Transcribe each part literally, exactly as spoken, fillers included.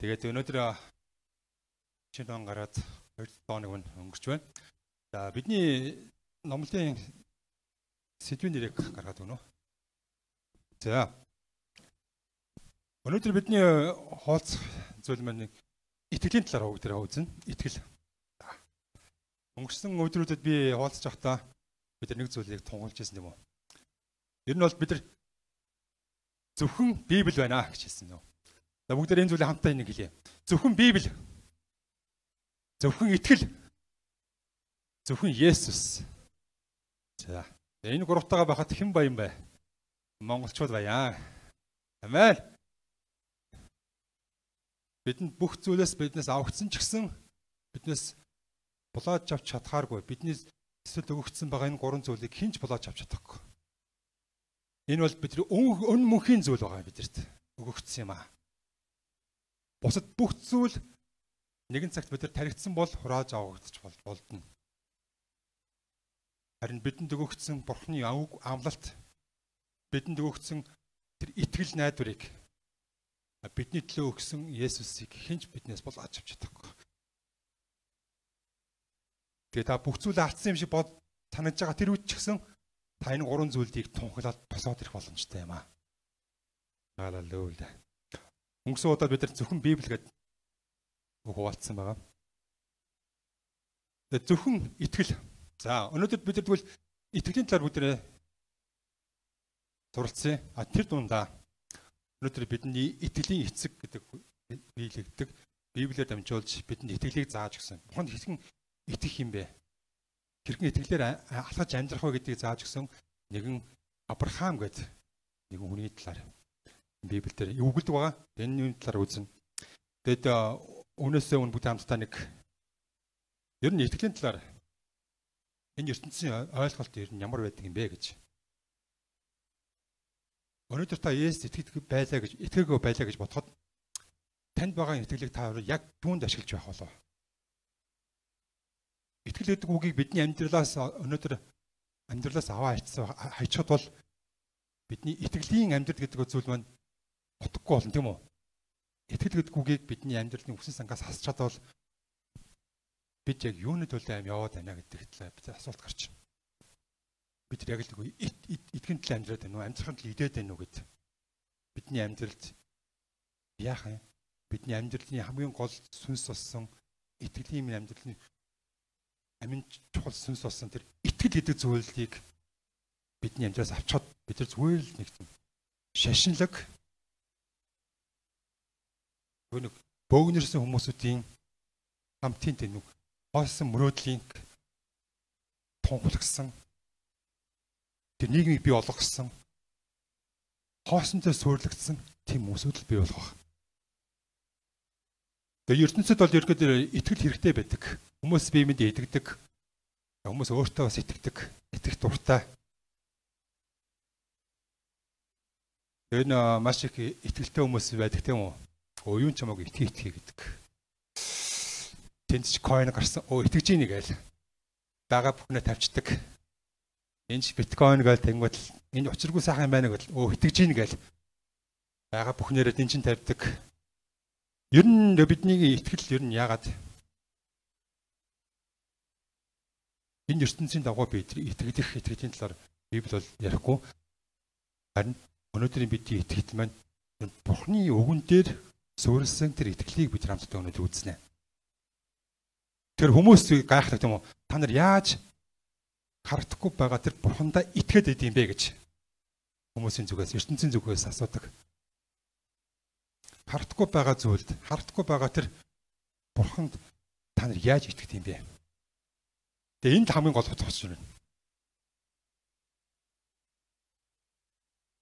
Тэгээд өнөөдөр чинь он гараад хоёр хоног өнгөрч байна. За бидний номлын сэдвийн нэрийг гаргаад өгнө. За өнөөдөр бидний хооц зүйл маань итгэлийн талаар өгдөр хавзна. Итгэл. Өнгөрсөн өдрүүдэд би хооцож байхдаа бид нэг зүйлийг тунгалж ирсэн юм уу? Ер нь бол бид нар зөвхөн Библи байна гэж хэлсэн юм. За бүгд энэ зүйлийг хамтдаа энийг хэлье. Зөвхөн Библи. Зөвхөн итгэл. Зөвхөн Есүс. За энэ гуравтайгаа байхад хэн баян бай? Монголчууд баян. Амен. Бидэнд бүх зүйлээс биднээс авагдсан ч гэсэн биднээс булааж авч чадхааргүй. Бидний эсвэл өгөгдсөн байгаа энэ гурван зүйлийг хинч булааж авч чадахгүй. Энэ бол бидний өн мөнхийн зүйл байгаа бидэрт өгөгдсөн юм аа. Бусад бүх зүйл нэгэн цагт бид нар таригдсан бол хурааж авагдчих болдно. Харин бидэнд өгөгдсөн Бурхны амлалт, бидэнд өгөгдсөн тэр итгэл найдварыг бидний төлөө өгсөн Есүсийг хинч биднээс бол авч чадахгүй. Тэгээ та бүх зүйл алдсан юм шиг бод санаж байгаа тэр үед ч гэсэн та энэ гурван зүйлийг тунхаглаад босоод ирэх боломжтой юм аа. Халелуя. Өнгөрсөн удаад бид нар зөвхөн Библи гэдэг үг хуваалцсан байгаа. Тэгээ зөвхөн итгэл. За өнөөдөр бид нар тэгвэл итгэлийн талаар бүгдээ суралцъя. А тэр дундаа өнөөдөр бидний итгэлийн эцэг гэдэг биелэгддэг Библиэр дамжуулж бидэнд итгэлийг зааж өгсөн. Бурханд хэрхэн итгэх юм бэ? Хэрхэн итгэлээр алхаж амьдрах вэ гэдгийг зааж өгсөн нэгэн Авраам гэдэг нэгэн хүний талаар Библиэлд өгүүлдэг байгаа. Энэ талаар үзнэ. Тэгэд өнөөсөө өмнө бүгд хамтдаа нэг ер нь итгэлийн талаар энэ ертөнцийн ойлголт ер нь ямар байдаг юм бэ гэж. Өнөөдөр та Есүс итгэдэг байлаа гэж, итгээгөө байлаа гэж бодоход танд байгаа итгэлийг та яг түүнд ашиглаж байх болов. Итгэл гэдэг үгийг бидний амьдралаас өнөөдөр амьдралаас аваа хайцсан хайчихад бол бидний итгэлийн амьдрал гэдэг зүйл маань утгагүй болно тийм үү? Итгэл гэдэг үгийг бидний амьдралын үсэн сангаас хасчаад бол бид яг юуны төлөө аим яваад байна гэдэг талаар бид асуулт гарч байна. Бид яг л итгэн төлөө амьдраад байна уу? Амьдрахын төлөө идээд байна уу гэд. Бидний амьдралд яах юм? Бидний амьдралын хамгийн гол сүнс болсон итгэлийн амьдралын амин чухал сүнс болсон тэр итгэл гэдэг зүйлийг бидний амьдралаас авчаад бид нар зүгээр л нэг юм шашинлаг нэг бөөгнөрсөн хүмүүсүүдийн хамтын тэнэг хоосон мөрөөдлийн тунхлагсан тэр нийгмийг бий болгосон хоосонтой суйрлагдсан тийм хүмүүсүүд л бий болгох. Тэгээ ертөнцид бол ерөөдөө итгэл хэрэгтэй байдаг. Хүмүүс биемэд итгэдэг. Хүмүүс өөртөө бас итгэдэг. Итгэх дуртай. Тэр нь маш их итгэлтэй хүмүүс байдаг тийм үү? Оо юун ч хамаагүй итгэе итгэе гэдэг. Тэнд ч койн гарсан. Оо итгэж ийн гээл. Бага бүхнээ тавьчихдаг. Энд ч биткойн гээл тэнгуут энэ учиргүй сайхан юм байна гэл. Оо итгэж ийн гээл. Бага бүхнээрээ энэ чинь тавьдаг. Ер нь бидний итгэл ер нь яагаад энэ ертөнцийн дагуу бид итгэдэх итгэлийн талаар Библи бол ярихгүй. Харин өнөөдрийн бидний итгэл маань Бурхны үгэн дээр суурилсан тэр итгэлийг бид хамтдаа өнөөдөр үзнэ. Тэр хүмүүс гайхдаг юм уу? Та нар яаж харагдахгүй байгаа тэр Бурхандаа итгээд идэм бэ гэж хүмүүсийн зүгээс, ертөнцийн зүгээс асуудаг. Харагдахгүй байгаа зүйлд, харагдахгүй байгаа тэр Бурханд та нар яаж итгэх юм бэ? Тэгээ энэ хамгийн гол утга учир байна.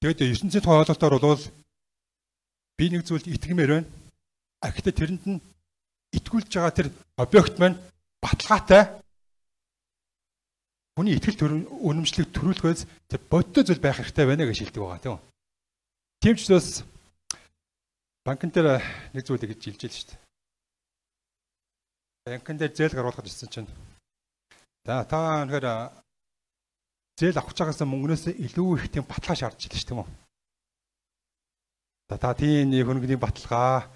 Тэгээд ертөнцийн ойлголтоор бол би нэг зүйлд итгэмээр байна. А гэхдээ тэрэнд нь итгүүлж байгаа тэр объект маань баталгаатай. Хүний итгэл үнэмшлийг төрүүлэхээс тэр бодтой зүйл байх хэрэгтэй байна гэж хэлдэг байгаа тийм үү? Тийм ч бас банкн дээр нэг зүйлийг гэж хэлж л шүү дээ. Банкн дээр зээл гаргуулахад ирсэн чинь за та өнөхөр зээл авах чагаас мөнгнөөс илүү их тийм баталгаа шаардж илж тийм үү? За та тийм нэг хөнгөний баталгаа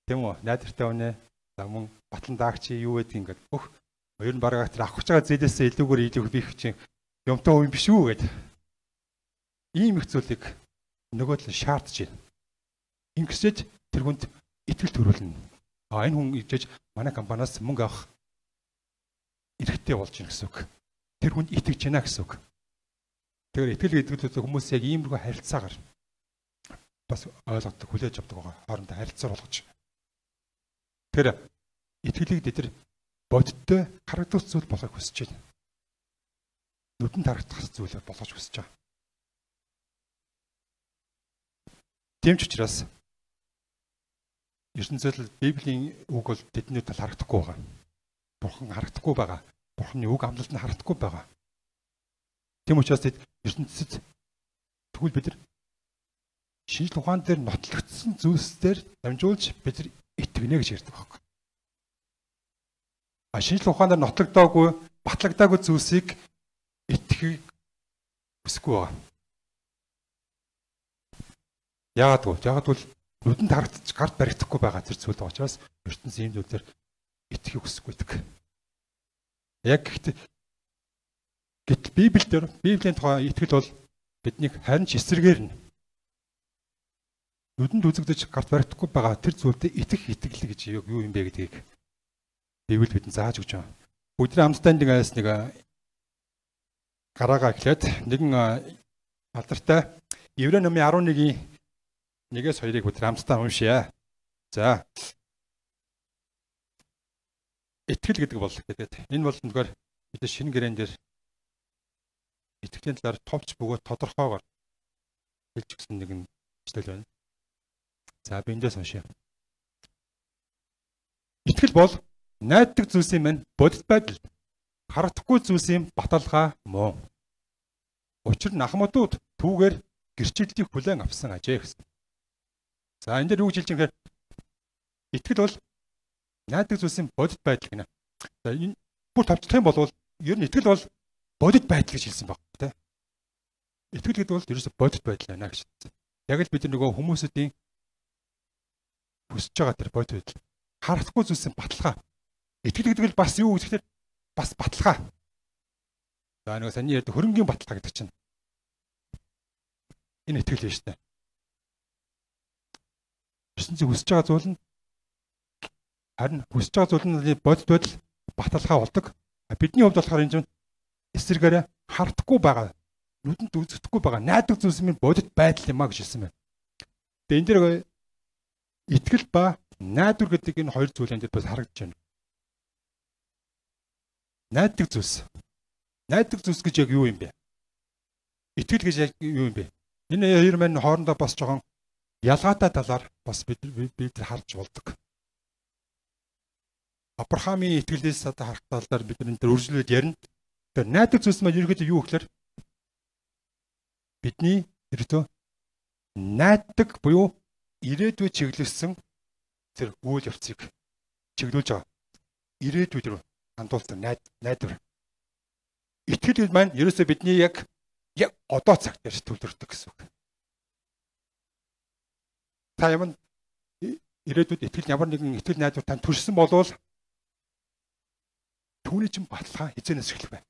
Тийм үү? Найдвартай үнэ. За мөн батлан даагч юу гэдэг ингээд бүх хоёр нь бараг тэр авах гэж байгаа зээлээсээ илүүгээр илүү бих чинь юмтай үе биш үү гэдэг. Ийм их зүйлийг нөгөө л шаардж байна. Ингэсэж тэр хүнд итгэл төрүүлнэ. А энэ хүн ижиж манай компаниас мөнгө авах эрхтэй болж байна гэсэн үг. Тэр хүнд итгэж байна гэсэн үг. Тэгэхээр итгэл гэдэг хүмүүс яг иймэрхүү харилцаагаар бас ойлгодог, хүлээж авдаг байгаа. Хоорондоо харилцаа болгож. Тэр итгэлийг дээр бодиттой харагдах зүйл болохыг хүсэж байна. Нүдэнд харагдах зүйлээр болгож хүсэж байгаа. Тийм ч учраас ертөнцийн Библийн үг бол тэдний тал харагдахгүй байгаа. Бурхан харагдахгүй байгаа. Бурханы үг амлалт нь харагдахгүй байгаа. Тийм учраас тэд ертөнцид тэгвэл бид нар шинжлэх ухаан дээр нотлогдсон зүйлсээр дамжуулж бид нар итгэнэ гэж ярьдаг байхгүй. А шинжлэх ухаанаар нотлогдоогүй, батлагдаагүй зүйлсийг итгэхийг хүсэхгүй байгаа. Яагаад вэ? Яагаад бол нүдэнд харагдаж гарт баригдахгүй байгаа тэр зүйл байгаа учраас ертөнцийн ийм зүйлээр итгэхийг хүсэхгүй байдаг. Яг гэхдээ гэтэл Библиэлд Библийн тухай итгэл бол биднийг харин ч эсрэгээр нь нүдэнд үзэгдэж гарт баригдахгүй байгаа тэр зүйлдээ итгэх итгэл гэж юу юм бэ гэдгийг Библи бидэнд зааж өгч байгаа. Бүгдний хамтдаа нэгээс нэг гараагаа эхлээд нэгэн алдартай Еврей номын арван нэгийн нэгээс хоёрыг бүгд хамтдаа уншъя. За. Итгэл гэдэг бол гэдэг. Энэ бол нэгэр бид шинэ гэрээн дээр итгэлийн талаар товч бөгөөд тодорхойгоор хэлж өгсөн нэгэн хэвлэл байна. За би эндээс уншъя. Итгэл бол найддаг зүйлсийн мань бодит байдал, харагдахгүй зүйлсийн баталгаа мөн. Учир нь ахмадууд түүгээр гэрчлэлийг хүлээн авсан ажээ гэсэн. За энэ дээр юу гэж хэлж байгаа юм бэ? Итгэл бол найддаг зүйлсийн бодит байдал гинэ. За энэ бүр товчлох юм бол ер нь итгэл бол бодит байдал гэж хэлсэн баг тийм. Итгэл гэдэг бол ерөөсө бодит байдал байна гэж хэлсэн. Яг л бид нөгөө хүмүүсүүдийн хүсэж байгаа тэр бодит байдал. Харахгүй зүйлсийн баталгаа. Итгэл гэдэг нь бас юу гэхээр бас баталгаа. За нөгөө саний ярьдаг хөрөнгийн баталгаа гэдэг чинь. Энэ итгэл биш үү? Ертөнцийн хүсэж байгаа зүйл нь харин хүсэж байгаа зүйл нь бодит байдал баталгаа болдог. Бидний хувьд болохоор энэ чинь эсрэгээрээ хардахгүй байгаа, нүдэнд үзэгдэхгүй байгаа найддаг зүйлс минь бодит байдал юм а гэж хэлсэн байна. Тэгээ энэ дээр итгэл ба найдвар гэдэг энэ хоёр зүйл энэ дээр бас харагдаж байна. Найддаг зүйлс. Найддаг зүйлс гэж яг юу юм бэ? Итгэл гэж яг юу юм бэ? Энэ хоёр маань хоорондоо бас жоохон ялгаатай талаар бас бид бид харж болдог. Авраамийн итгэлээс одоо харах талаар бид энэ төр үргэлжлүүлээд ярина. Тэр найддаг зүйлс маань ерөөдөө юу гэхээр бидний ерөөдөө найддаг буюу ирээдүйд чиглэсэн тэр үйл явцыг чиглүүлж байгаа. Ирээдүйд рүү хандуулсан найд найдвар. Итгэл маань ерөөсөө бидний яг яг одоо цаг дээр төвлөрдөг гэсэн үг. Та юм ирээдүйд итгэл ямар нэгэн итгэл найдвар тань төрсөн болвол түүний чинь баталгаа хизэнээс эхлэх байна.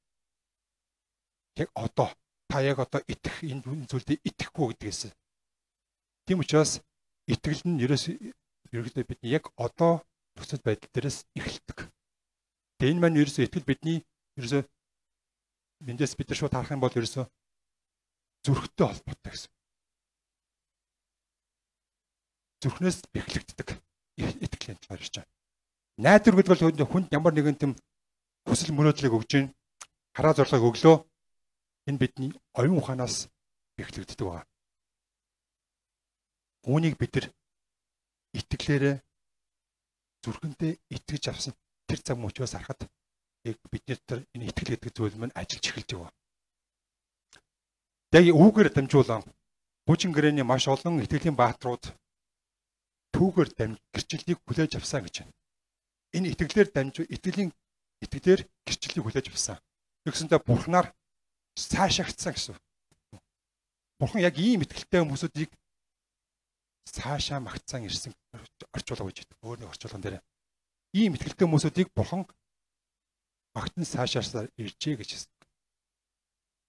Яг одоо та яг одоо итгэх энэ зүйлдээ итгэхгүй гэдгээс. Тийм учраас итгэл нь ерөөсөө ерөөдөө бидний яг одоо нөхцөл байдал дээрээс эхэлдэг. Тэгээ энэ маань ерөөсөө итгэл бидний ерөөсөө эндээс бид нар шууд харах юм бол ерөөсөө зүрхтэй холбоотой гэсэн. Зүрхнээс бэхлэгддэг итгэлийн талаар ярьж байгаа. Найдвар гэдэг бол хүнд ямар нэгэн тийм хүсэл мөрөөдлийг өгж гин хараа зорилгыг өглөө энэ бидний оюун ухаанаас бэхлэгддэг байна. Үүнийг бид нар итгэлээрээ зүрхэндээ итгэж авсан тэр цаг мөчөөс харахад яг бидний тэр энэ итгэл гэдэг зүйл маань ажиллаж эхэлж байгаа. Яг үүгээр дамжуулан бүжин гэрээний маш олон итгэлийн бааtruуд түүгээр дамж гэрчлэлийг хүлээж авсан гэж байна. Энэ итгэлээр дамжуу итгэлийн итгэлээр гэрчлэлийг хүлээж авсан. Тэгсэндээ бурхнаар цаашаагдсан гэсэн. Бурхан яг ийм итгэлтэй хүмүүсүүдийг цаашаа магтсан ирсэн орчуулга гэж байдаг. Өөр нэг орчуулган дээр ийм итгэлтэй хүмүүсүүдийг бурхан магтан сайшаасаар иржээ гэж хэлсэн.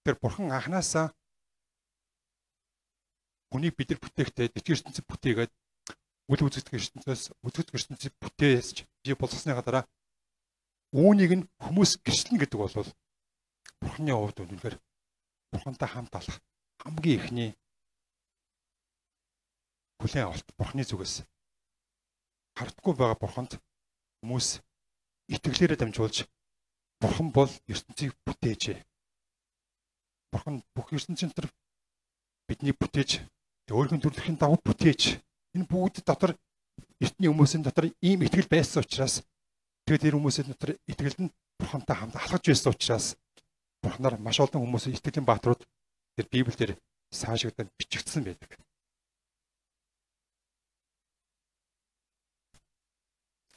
Тэр бурхан анханасаа хүнийг бид нар бүтээхдээ дэвтгэр ертөнцөд бүтээгээд үл үзэгдэх ертөнцөөс үзэгдэх ертөнцөд бүтээсч бий болгосныга дараа үүнийг нь хүмүүс гэрчлэн гэдэг бол бурханы хувьд үнэхээр бурхантай хамт алах хамгийн ихний хүлээн авалт бурханы зүгээс хардггүй байгаа бурханд хүмүүс итгэлээрээ дамжуулж бурхан бол ертөнцийг бүтээжээ. Бурхан бүх ертөнцийн дотор бидний бүтээж өөрийн төрөлхийн дагуу бүтээж энэ бүгд дотор эртний хүмүүсийн дотор ийм итгэл байсан учраас тэгээд тэр хүмүүсийн дотор итгэл нь бурхантай хамт алхаж байсан учраас бурханаар маш олон хүмүүсийн итгэлийн бааtruуд тэр Библиэлд саашигдсан бичигдсэн байдаг.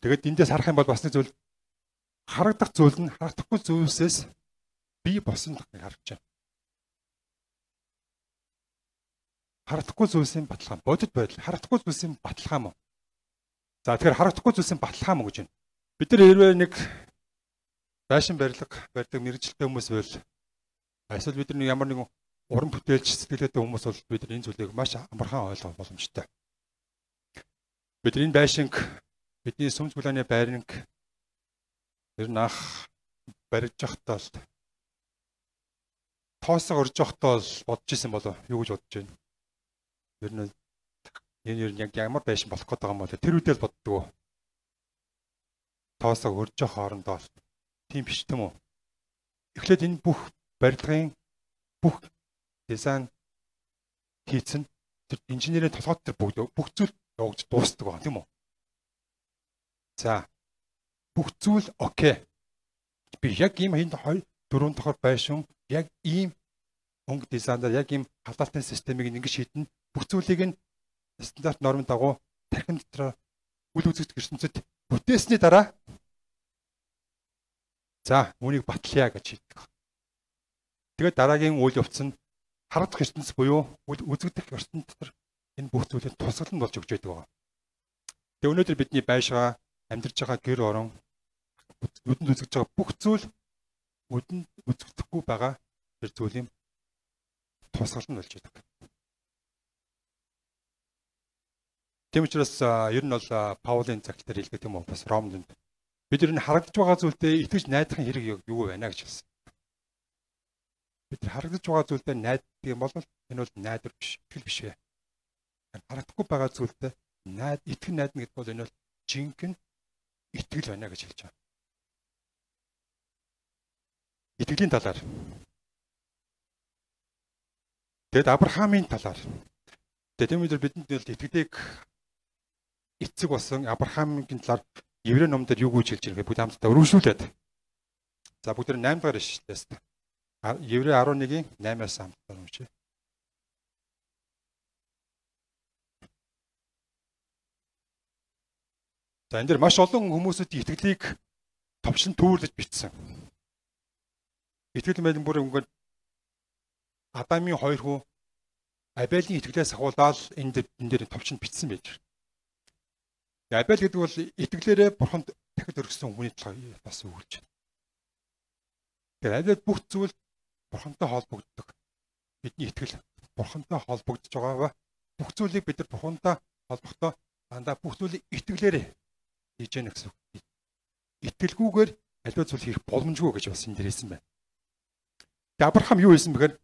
Тэгээд эндээс харах юм бол бас нэг зүйл харагдах зүйл нь харагдахгүй зүйлсээс бий болсон гэж харж байна. Харагдахгүй зүйлсийн баталгаа, бодит байдал, харагдахгүй зүйлсийн баталгаа мөн. За тэгэхээр харагдахгүй зүйлсийн баталгаа мөн гэж байна. Бид нар хэрвээ нэг байшин барилга барьдаг мэрэгчлээ хүмүүс байвал эсвэл бид нар ямар нэгэн уран бүтээлч сэтгэлгээтэй хүмүүс бол бид нар энэ зүйлийг маш амархан ойлгох боломжтой. Бид энэ байшинг бидний сүмж гулааны байрнг ер нь ах барьж явахдаа л тоосоо орж явахдаа л бодож исэн болов юу гэж бодож байна. Ер нь энэ ер нь яг ямар байшин болох гээд байгаа юм бол тэр үедээ л боддгоо. Тоосоо орж явах хоорондоо тийм биш юм уу? Эхлээд энэ бүх барилгын бүх дизайн хийцэн тэр инженерийн толгойд тэр бүгд бүх зүйл явж дуустдаг байна тийм үү? За бүх зүйл окей. Би яг ийм хэнд хоёр дөрөв дахь байшин яг ийм өнгө дизайнаар яг ийм халаалтын системийг ингэж шийднэ. Бүх зүйлийг нь стандарт нормын дагуу тархин дотор үл үзэгдэх ертөнцид бүтээсний дараа за үүнийг батлая гэж шийддэг. Тэгээд дараагийн үйл явц нь харагдах ертөнц буюу үл үзэгдэх ертөнц дотор энэ бүх зүйлийг тусгалан болж өгч байдаг. Тэгээ өнөөдөр бидний байшгаа амьдарч байгаа гэр орон нүдэнд үзэгдэж байгаа бүх зүйл нүдэнд үзэгдэхгүй байгаа тэр зүйлийн тусгалан болж байдаг. Тийм учраас ер нь бол Паулийн цагт дээр хэлдэг юм уу бас Ромд бид ер нь харагдаж байгаа зүйлдээ итгэж найдахын хэрэг юу вэ гэж хэлсэн. Бид харагдаж байгаа зүйлдээ найддаг юм бол энэ бол найдар биш, итгэл биш вэ. Харагдахгүй байгаа зүйлдээ найд итгэн найдна гэдэг бол энэ бол жинхэнэ итгэл байна гэж хэлж байна. Итгэлийн талаар. Тэгэд Авраамийн талаар. Тэгээд энэ бидэнд итгэлийг эцэг болсон Авраамийн талаар Еврей номдэр юу гэж хэлж байгаа бүгд хамтдаа өргөжлүүлээд. За бүгд найм дахь ишлээс. Еврей арван нэгin наймаас хамтдаа уншъя. За энэ дэр маш олон хүмүүсийн итгэлийг товчлон төвөрлөж бичсэн. Итгэл мэдэн бүр ингээд Адамын хоёр хүү Абелийн итгэлээс ахуулаад энэ дэр энэ дэр товчонд бичсэн байж. Абель гэдэг бол итгэлээрээ бурханд дахид өргөсөн хүний талаар бас өгүүлж байна. Тэгэхээр Абель бүх зүйл бурхантай холбогддог. Бидний итгэл бурхантай холбогдож байгаагаа бүх зүйлийг бид нар бурхантай холбохдоо дандаа бүх зүйлийг итгэлээрээ хийж яах гэсэн үг. Итгэлгүйгээр аливаа зүйл хийх боломжгүй гэж бас энэ дээрсэн байна. Тэгээ Авраам юу хийсэн бэхээр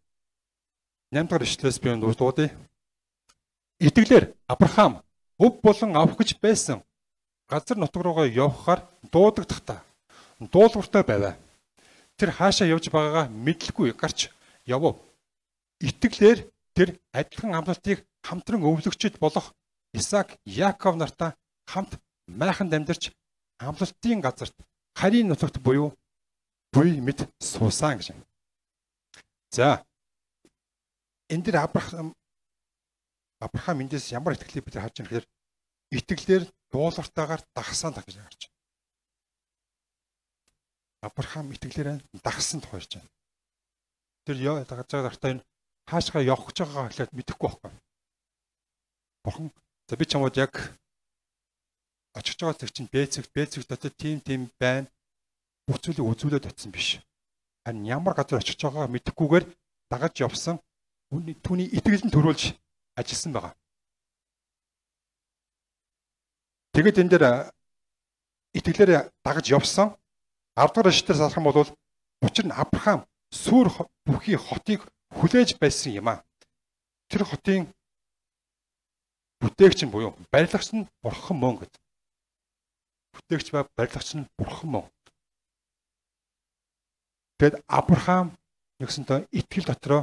наймд дахь ишлээс би дуудъя. Итгэлээр Авраам өв болон авах гэж байсан газар нутаг руугаа явхаар дуудагдахтаа дуулууртай байваа. Тэр хаашаа явж байгаагаа мэдлгүй гарч явв. Итгэлээр тэр адилхан амлалтыг хамтран өвлөгчд болох Исаак, Яаков нартай хамт майханд амьдарч амлалтын газарт харийн нутагт буюу буй мэд суусан гэж. За энэ дэр Авраам Авраам эндээс ямар итгэлийг бид харж байгаа гэхээр итгэлээр дуулууртайгаар дагсан гэж харж байна. Авраам итгэлээр дагсан тохиолж байна. Тэр яа дагаж байгаа гартаа энэ хаашгаа явах гэж байгаагаа хэлээд мэдэхгүй байхгүй. Бурхан за би чамд яг очиж байгаа зэрэг чинь Б цэгт, Б цэгт дотор тийм тийм байна. Бүх зүйлийг үзүүлээд очсон биш. Харин ямар газар очиж байгаагаа мэдэхгүйгээр дагаж явсан түүний итгэлэн төрүүлж ажилласан байгаа. Тэгээд энэ дээр итгэлээр дагаж явсан ардгаар эшлэлээр салах юм бол учир нь Авраам Сүр бүхий хотыг хүлээж байсан юм а. Тэр хотын бүтээгч нь буюу барилгач нь бурхан мөн гэд. Бүтээгч ба барилгач нь бурхан мөн. Тэгэд Авраам нэгсэнтэй итгэл дотроо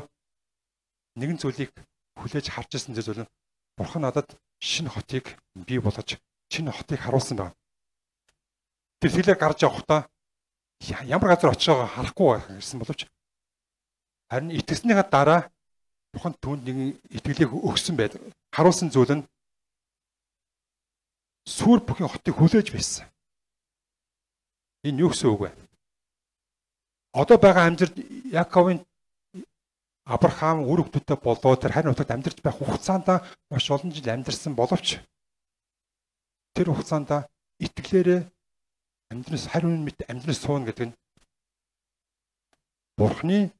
нэгэн зүйлийг хүлээж харж ирсэн зүйл нь бурхан надад шинэ хотыг бий болгож шинэ хотыг харуулсан байна. Тэр хэлээр гарч явахдаа ямар газар очиж байгааг харахгүй гэсэн боловч харин итгэснийхаа дараа бурхан түүнд нэг итгэлийг өгсөн байдаг. Харуулсан зүйл нь Сүр бүхий хотыг хүлээж байсан. Энэ юу гэсэн үг вэ? Одоо байгаа амьдрал Яаковын Авраам үр хөвгтөд болоо тэр харин утгад амьдарч байх хугацаанд маш олон жил амьдарсан боловч тэр хугацаанд итгэлээрээ амьдрал хариун мэт амьдрал суuna гэдэг нь Бурхны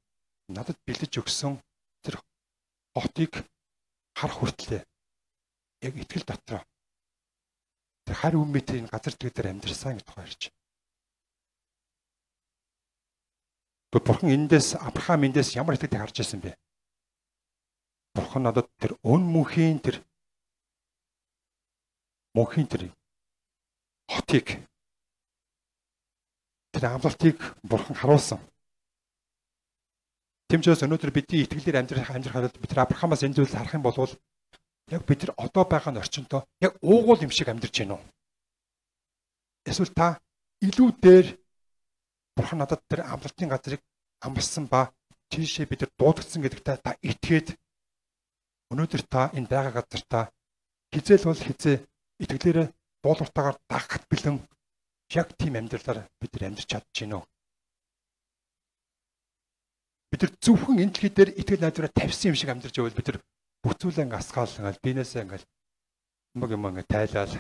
надад бэлдэж өгсөн тэр хотыг харах хүртлээ яг итгэл дотроо тэр хариун мэтийн газар дээр амьдарсан гэж тухайрч. Тэгвэл Бурхан эндээс Авраам эндээс ямар итгэлийг харж ирсэн бэ? Бурхан надад тэр өн мөнхийн тэр мөнхийн тэр хотыг тэр амлалтыг Бурхан харуулсан. Тэмчээс өнөөдөр бидний итгэлээр амьдрах амьдрах хараад бид Авраамаас энэ зүйлийг харах юм бол яг бид нар одоо байгаа орчиндөө яг уугуул юм шиг амьдарч байна уу? Эсвэл та илүү дээр Бурхан надад тэр амлалтын газрыг амласан ба тийшээ бид нар дуудагдсан гэдэгтээ та итгээд өнөөдөр та энэ байгаа газартаа хизээл бол хизээ итгэлээрээ дуулууртаагаар дагахт бэлэн яг тийм амьдралаар бид нар амьдарч чадж байна уу? Бид нар зөвхөн энэ дэлхий дээр итгэл найдвараа тавьсан юм шиг амьдарч байвал бид нар бүцүүлээ ингээ асгаал ингээл бинээсээ ингээл юм юм ингээ тайлал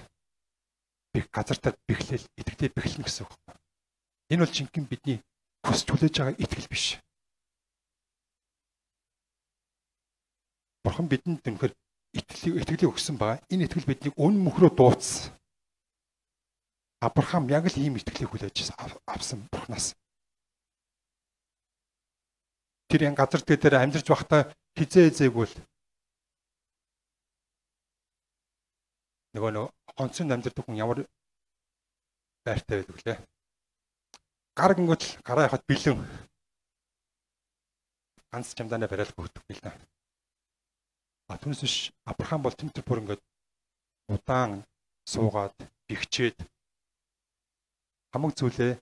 би газартаа бэхлээл итгэлээ бэхлэн гэсэн үг. Энэ бол жинхэнэ бидний хүсч хүлээж байгаа итгэл биш. Бурхан бидэнд тэмхэр итгэлийг итгэлийг өгсөн байгаа. Энэ итгэл биднийг өн мөхрөө дууцсан. Авраам яг л ийм итгэлийг хүлээж авсан Бурханаас. Тэр энэ газар дээр амьдарч байхдаа хизээ зээгүүл нөгөө нөө гонцон амьдардаг хүн ямар байртай байдаг лээ. Гар гингүүт гараа яхад бэлэн ганц чамдаанаа бариад өгдөг юм л да. А түүнээс биш Авраам бол тэмтэр бүр ингээд удаан суугаад бихчээд хамаг зүйлээ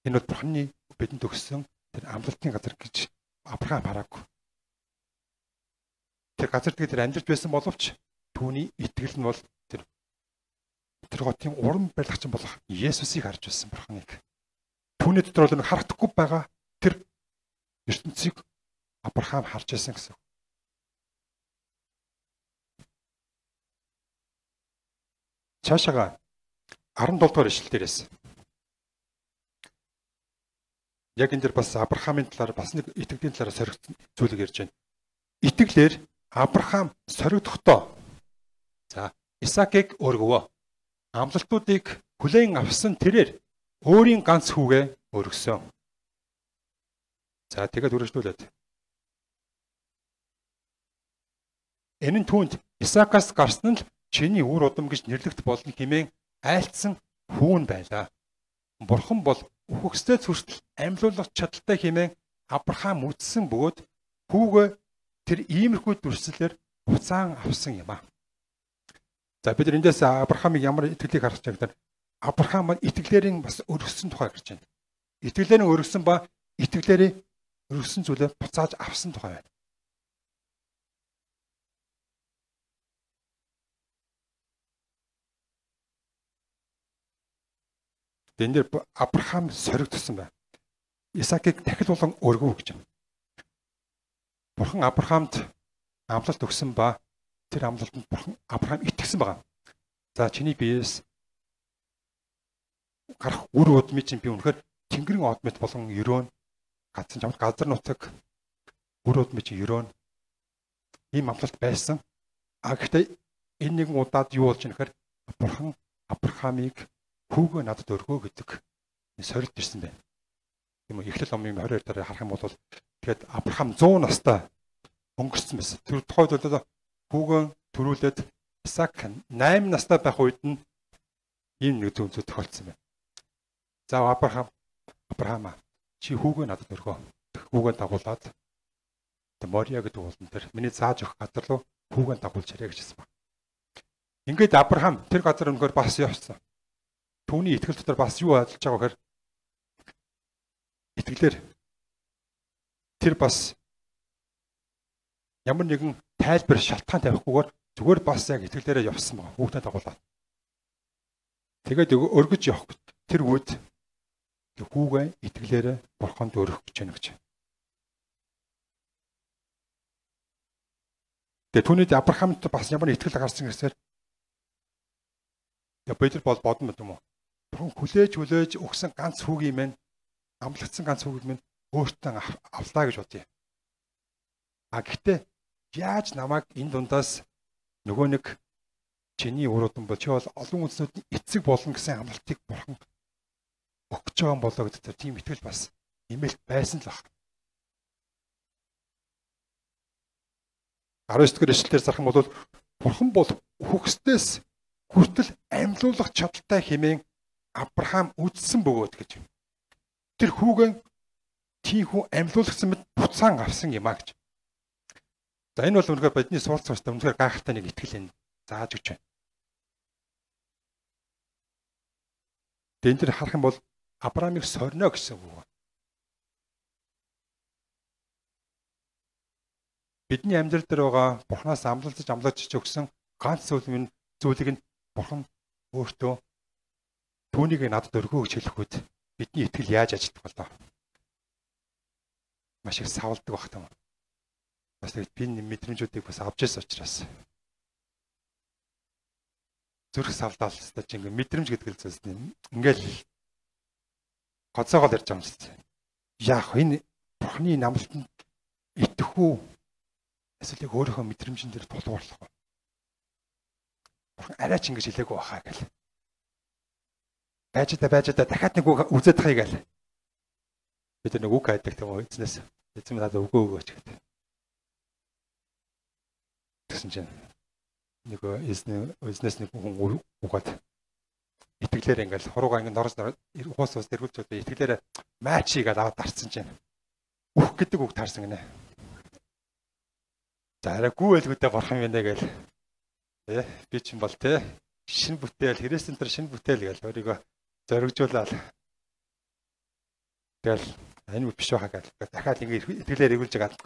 энэ бол Бурханы бидэнд өгсөн тэр амлалтын газар гэж Авраам хараагүй. Тэр газар дээр амьдарч байсан боловч түүний итгэл нь бол тэр тэр хотын уран барилгач болох Есүсийг харж байсан Бурханыг. Түүний дотор бол нэг харагдахгүй байгаа тэр ертөнцийг Авраам харж байсан гэсэн. Цаашаага арван долоо дугаар ишлэл дээрээс. Яг энэ дэр бас Авраамын талаар бас нэг итгэлийн талаар соригдсон зүйлийг ярьж байна. Итгэлээр Авраам соригдохдоо за Исаакийг өргөвөө. Амлалтуудыг хүлээн авсан тэрээр өөрийн ганц хүүгээ өргөсөн. За тэгээд үргэлжлүүлээд. Энэ нь түүнд Исаакаас гарсан л чиний үр удам гэж нэрлэгдэх болно хэмээн айлцсан хүүн байлаа. Бурхан бол үхэгсдээ хүртэл амьлуулах чадaltaй хэмээн Авраам үздсэн бөгөөд хүүгээ тэр иймэрхүү дүрслэлээр буцаан авсан юм а. За бид эндээс Авраамыг ямар итгэлийг харах гэж байна. Авраам маань итгэлээрийн бас өргөссөн тухай гарч байна. Итгэлээрийн өргөсөн ба итгэлээрийн өргөссөн зүйлээ буцааж авсан тухай байна. Энд дээр Авраам соригдсон байна. Исаакийг дахил болон өргөв гэж байна. Бурхан Авраамд амлалт өгсөн ба тэр амлалтанд Бурхан Авраам итгэсэн байгаа. За чиний биеэс гарах үр удмын чинь би үнэхээр Тэнгэрийн од мэт болон өрөөн гадсан чамд газар нутаг үр удмын чинь өрөөн ийм амлалт байсан. А гэхдээ энэ нэгэн удаад юу болж нэхэр Бурхан Авраамыг хүүгээ надад өргөө гэдэг сорилт ирсэн байна. Тийм үү? Эхлэл номын двадцать хоёр дараа харах юм бол тэгээд Авраам сто настай өнгөрсөн байсан. Тэр тухайд бол хүүгээ төрүүлээд Исаак восемь настай байх үед нь ийм нэг зүйл тохиолдсон байна. За Авраам Авраам чи хүүгээ надад өргөө. Хүүгээ дагуулад Мория гэдэг уулан дээр миний зааж өгөх газар руу хүүгээ дагуулж ирээ гэж хэлсэн баг. Ингээд Авраам тэр газар өнгөөр бас явсан. Түүний итгэл дотор бас юу ажиллаж байгаа гэхээр итгэлээр тэр бас ямар нэгэн тайлбар шалтгаан тавихгүйгээр зүгээр бас яг итгэлээрээ явсан баг. Хүүхдээ дагуулаад. Тэгээд өргөж явах тэр үед хүүгээ итгэлээрээ Бурханд өргөх гэж байна гэж. Тэгээ түүний Авраамд бас ямар итгэл гарсан гэсээр я Петр бол бодно юм уу? Бурхан хүлээж хүлээж өгсөн ганц хүүгийн мэн амлагдсан ганц хүүгийн мэн өөртөө авлаа гэж бодъё. А гэхдээ яаж намайг энэ дундаас нөгөө нэг чиний уруудан бол чи бол олон үндэснүүдийн эцэг болно гэсэн амлалтыг Бурхан өгч байгаа юм болоо гэдэг тийм итгэл бас нэмэлт байсан л баг. дөрөв дэх эшлэлээр зарах юм бол Бурхан бол хүчтэйс хүртэл амьлуулах чадaltaй хэмээн Авраам үздсэн бөгөөд гэж. Тэр хүүгэн тийхүү амьлуулсан мэт буцаан авсан юм а гэж. За энэ бол үнэхээр бидний суралц цааштай үнэхээр гайхалтай нэг итгэл энэ зааж өгч байна. Энд тэр харах юм бол Авраамыг сорно гэсэн үг. Бидний амьдрал дээр байгаа Бурханаас амлалцаж амлаж өгсөн ганц зүйл нь зүйлийг нь Бурхан өөртөө түүнийг надад өргөө гэж хэлэхэд бидний итгэл яаж ажилтдаг болоо. Маш их савлдаг баг таа. Бас би мэдрэмжүүдийг бас авч ирсэн учраас. Зүрх савлдаал хэвээр чи ингээ мэдрэмж гэдэг л зүйлс нь ингээл гоцоогоо ярьж байгаа юм шиг. Яах энэ Бурханы намлалтанд итгэх үү? Эсвэл яг өөрийнхөө мэдрэмжэн дээр тулгуурлах уу? Бурхан арай ч ингэж хэлээгүй баха гэл. Байж та байж та дахиад нэг үг үзээд тахыг гэл. Бид нэг үг хайдаг тийм үү эзнээс. Эзэн надад өгөө өгөөч гэдэг. Тэгсэн чинь нэг эзнээ эзнээс нэг хүн угаад итгэлээр ингээл хуруугаа ингээд норос уус уус тэргүүлж байгаа итгэлээр матчийг аваад дарцсан чинь үх гэдэг үг таарсан гинэ. За арай гүйлгүүдээ Бурхан юм байна гээл. Тэ би ч юм бол тэ шин бүтээл Христэн тэр шин бүтээл гээл өөрийгөө зоригжуулаад тэгэл энэ биш байхаа гээл дахиад ингэ итгэлээр эргүүлж байгаа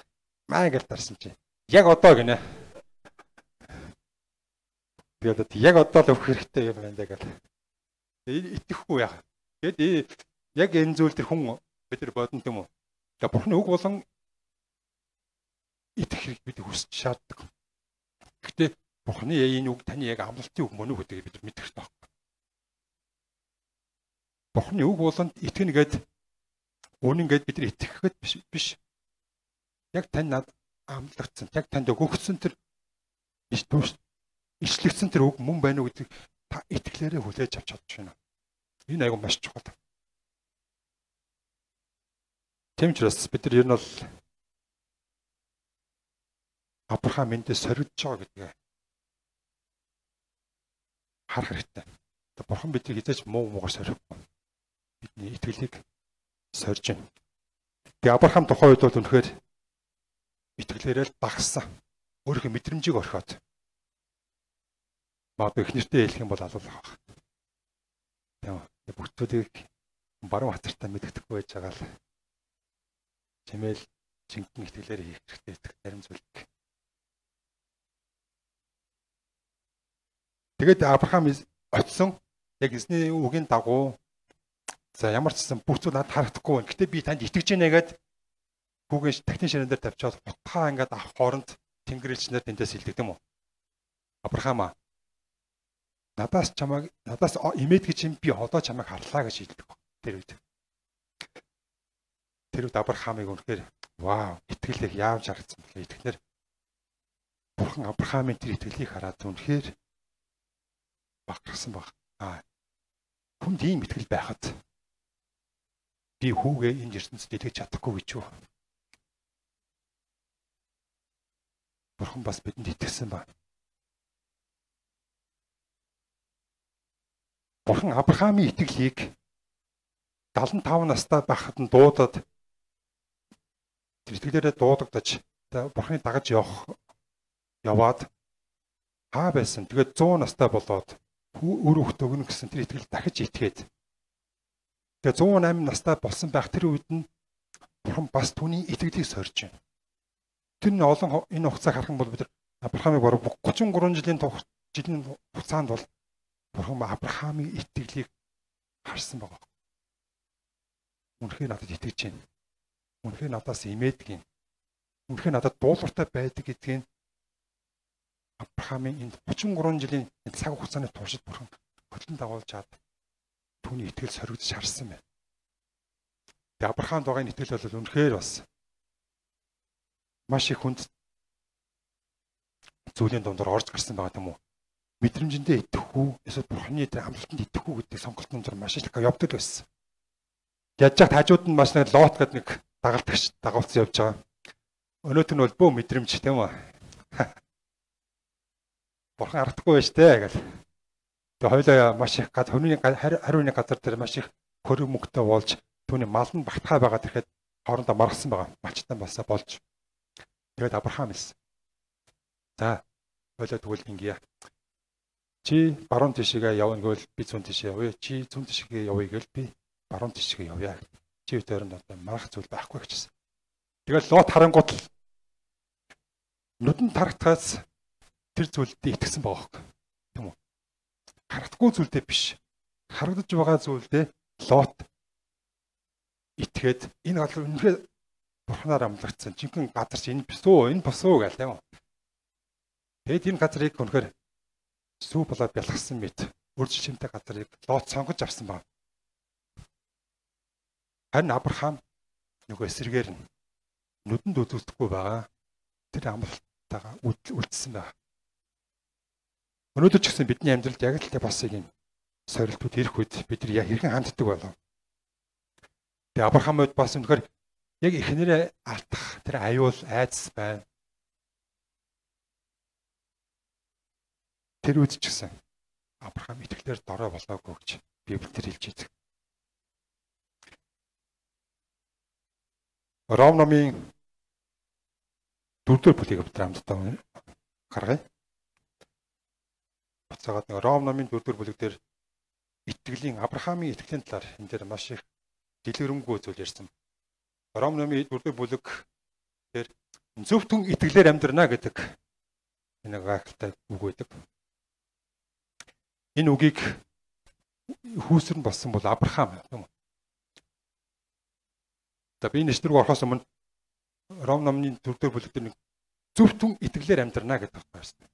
маа гээл дарсан чи яг одоо гинэ. Тэгээд яг одоо л өгөх хэрэгтэй юм байна гээл. Итгэхгүй яах. Тэгэд яг энэ зүйл тэр хүн бид нар бодно юм уу? Тэгээ Бурханы үг болон итгэх хэрэг бид хүсч шаарддаг. Гэхдээ Бурханы энэ үг таны яг амлалтын үг мөн үү гэдгийг бид мэдэх хэрэгтэй байна. Бурханы үг болонд итгэнэ гэд үнэн гэд бид нар итгэхэд биш биш. Яг тань над амлагдсан, яг танд өгөгдсөн тэр ишлэгдсэн тэр үг мөн байна уу гэдгийг та итгэлээрээ хүлээж авч чадж байна. Энэ айгүй маш чухал. Тийм ч бас бид нар ер нь бол Авраам эндээ соригдож байгаа гэдгээ харах хэрэгтэй. Бурхан биднийг хизээч муу муугаар сорихгүй. Бидний итгэлийг сорж байна. Тэгээ Авраам тухайн үед бол үнэхээр итгэлээрээ л дагсан. Өөрийнхөө мэдрэмжийг орхиод. Магадгүй их нэртэй хэлэх юм бол алуулах баг. Тийм. Бүгдүүдийг баруун хацартаа мэддэхгүй байж байгаа л чимээл жинхэнэ итгэлээр хийх хэрэгтэй итгэх зарим зүйлийг. Тэгээд Авраам очсон яг эзний үгийн дагуу за ямар ч гэсэн бүх зүйл надад харагдахгүй байна. Гэтэ би танд итгэж байна гэгээд хүүгийн техник ширэн дээр тавьчаад утгаа ингээд авах хооронд Тэнгэр элчнэр тэндээс хэлдэг юм уу? Авраам надаас чамайг надаас имээд гэж юм би одоо чамайг харлаа гэж хэлдэг. Тэр үед. Тэр үед Авраамыг үнэхээр вау, итгэлийг яавч харагдсан бэлээ. Итгэхнэр Бурхан Авраамын тэр итгэлийг хараад үнэхээр багтсан баг. Аа. Хүнд ийм итгэл байхад би хүүгээ энэ ертөнцид итгэж чадахгүй гэж юу? Бурхан бас бидэнд итгэсэн ба. Бурхан Авраамын итгэлийг дагалан тав настай байхад нь дуудаад тэр итгэлээрээ дуудагдаж Бурханы дагаж явах яваад хаа байсан. Тэгээд зуун настай болоод өр хөхт өгнө гэсэн тэр итгэл дахиж итгээд. Тэгээд зуун осем настай болсон байх тэр үед нь Бурхан бас түүний итгэлийг сорж байна. Тэр нь олон энэ хугацааг харах юм бол бид Авраамыг баруун гучин гурван жилийн жилийн хугацаанд бол Бурхан Авраамын итгэлийг харсан байгаа. Үнэхээр надад итгэж байна. Үнэхээр надаас имээдэг юм. Үнэхээр надад дуулууртай байдаг гэдгийг Авраамын энэ гучин гурван жилийн цаг хугацааны туршид Бурхан хөтлөн дагуулж чад түүний итгэл соригдож харсан байна. Тэгээ Авраамд байгаа энэ итгэл бол үнэхээр бас маш их хүнд зүйлийн дундор орж гарсан байгаа юм уу? Мэдрэмжэндээ итгэх үү, эсвэл Бурханы дээр хамлалтанд итгэх үү гэдэг сонголтын зур маш их явдаг байсан. Яаж ч хажууд нь маш нэг лот гэдэг нэг дагалдагч дагуулсан явж байгаа. Өнөөдөр нь бол бөө мэдрэмж тийм үү? Бурхан харагдахгүй байж тээ гэл. Тэгээ хоёлаа маш их гад хүний хариуны газар дээр маш их хөрөг мөнгөтэй болж түүний мал нь багтгаа байгаад ирэхэд хоорондоо маргасан байгаа. Малчтан басаа болж. Тэгээд Авраам хэлсэн. За, хоёлаа тэгвэл ингэе. Чи баруун тишгээ явна гэвэл би зүүн тишээ явъя. Чи зүүн тишгээ явъя гэвэл би баруун тишгээ явъя. Чи өтөрөнд одоо марах зүйл байхгүй гэжсэн. Тэгээд Лот харангуут л нүдэн тарахтаас тэр зүйлдээ итгэсэн байгаа хөөе. Тийм үү? Харагдахгүй зүйлдээ биш. Харагдаж байгаа зүйлдээ Лот итгээд энэ гал үнэхээр Бурханаар амлагдсан. Жинхэнэ газар чи энэ бисүү, энэ босуу гэл тийм үү? Тэгэд энэ газрыг үнэхээр сүү болоод бялгасан мэт үржил шимтэй газрыг Лот сонгож авсан баг. Харин Авраам нөгөө эсрэгээр нь нүдэнд үзэгдэхгүй байгаа. Тэр амлалтайгаа үлдсэн байна. Өнөөдөр ч гэсэн бидний амьдралд яг л бас ийм сорилтууд ирэх үед бид нар хэрхэн ханддаг болов? Тэгээ Авраамд бас үнэхээр яг эхнэрээ алдах тэр аюул айдас байна. Тэр үед ч гэсэн Авраам итгэлээр дорой болоогүй гэж Библиэлд хэлж байдаг. Ром номын дөрөвдүгээр бүлгийг бид хамтдаа гаргая. Буцаагаад нэг Ром номын дөрөвдүгээр бүлэг дээр итгэлийн Авраамын итгэлийн талаар энэ дээр маш их дэлгэрэнгүй зүйл ярьсан. Ром номын дөрөвдүгээр бүлэг дээр зөвхөн итгэлээр амьдрна гэдэг энэ гайхалтай үг байдаг. Энэ үгийг хүүсрэн болсон бол Авраам юм. За би нэштрэг орохоос өмнө Ром номын дөрөвдүгээр бүлэг дээр зөвхөн итгэлээр амьдрна гэдэг байна.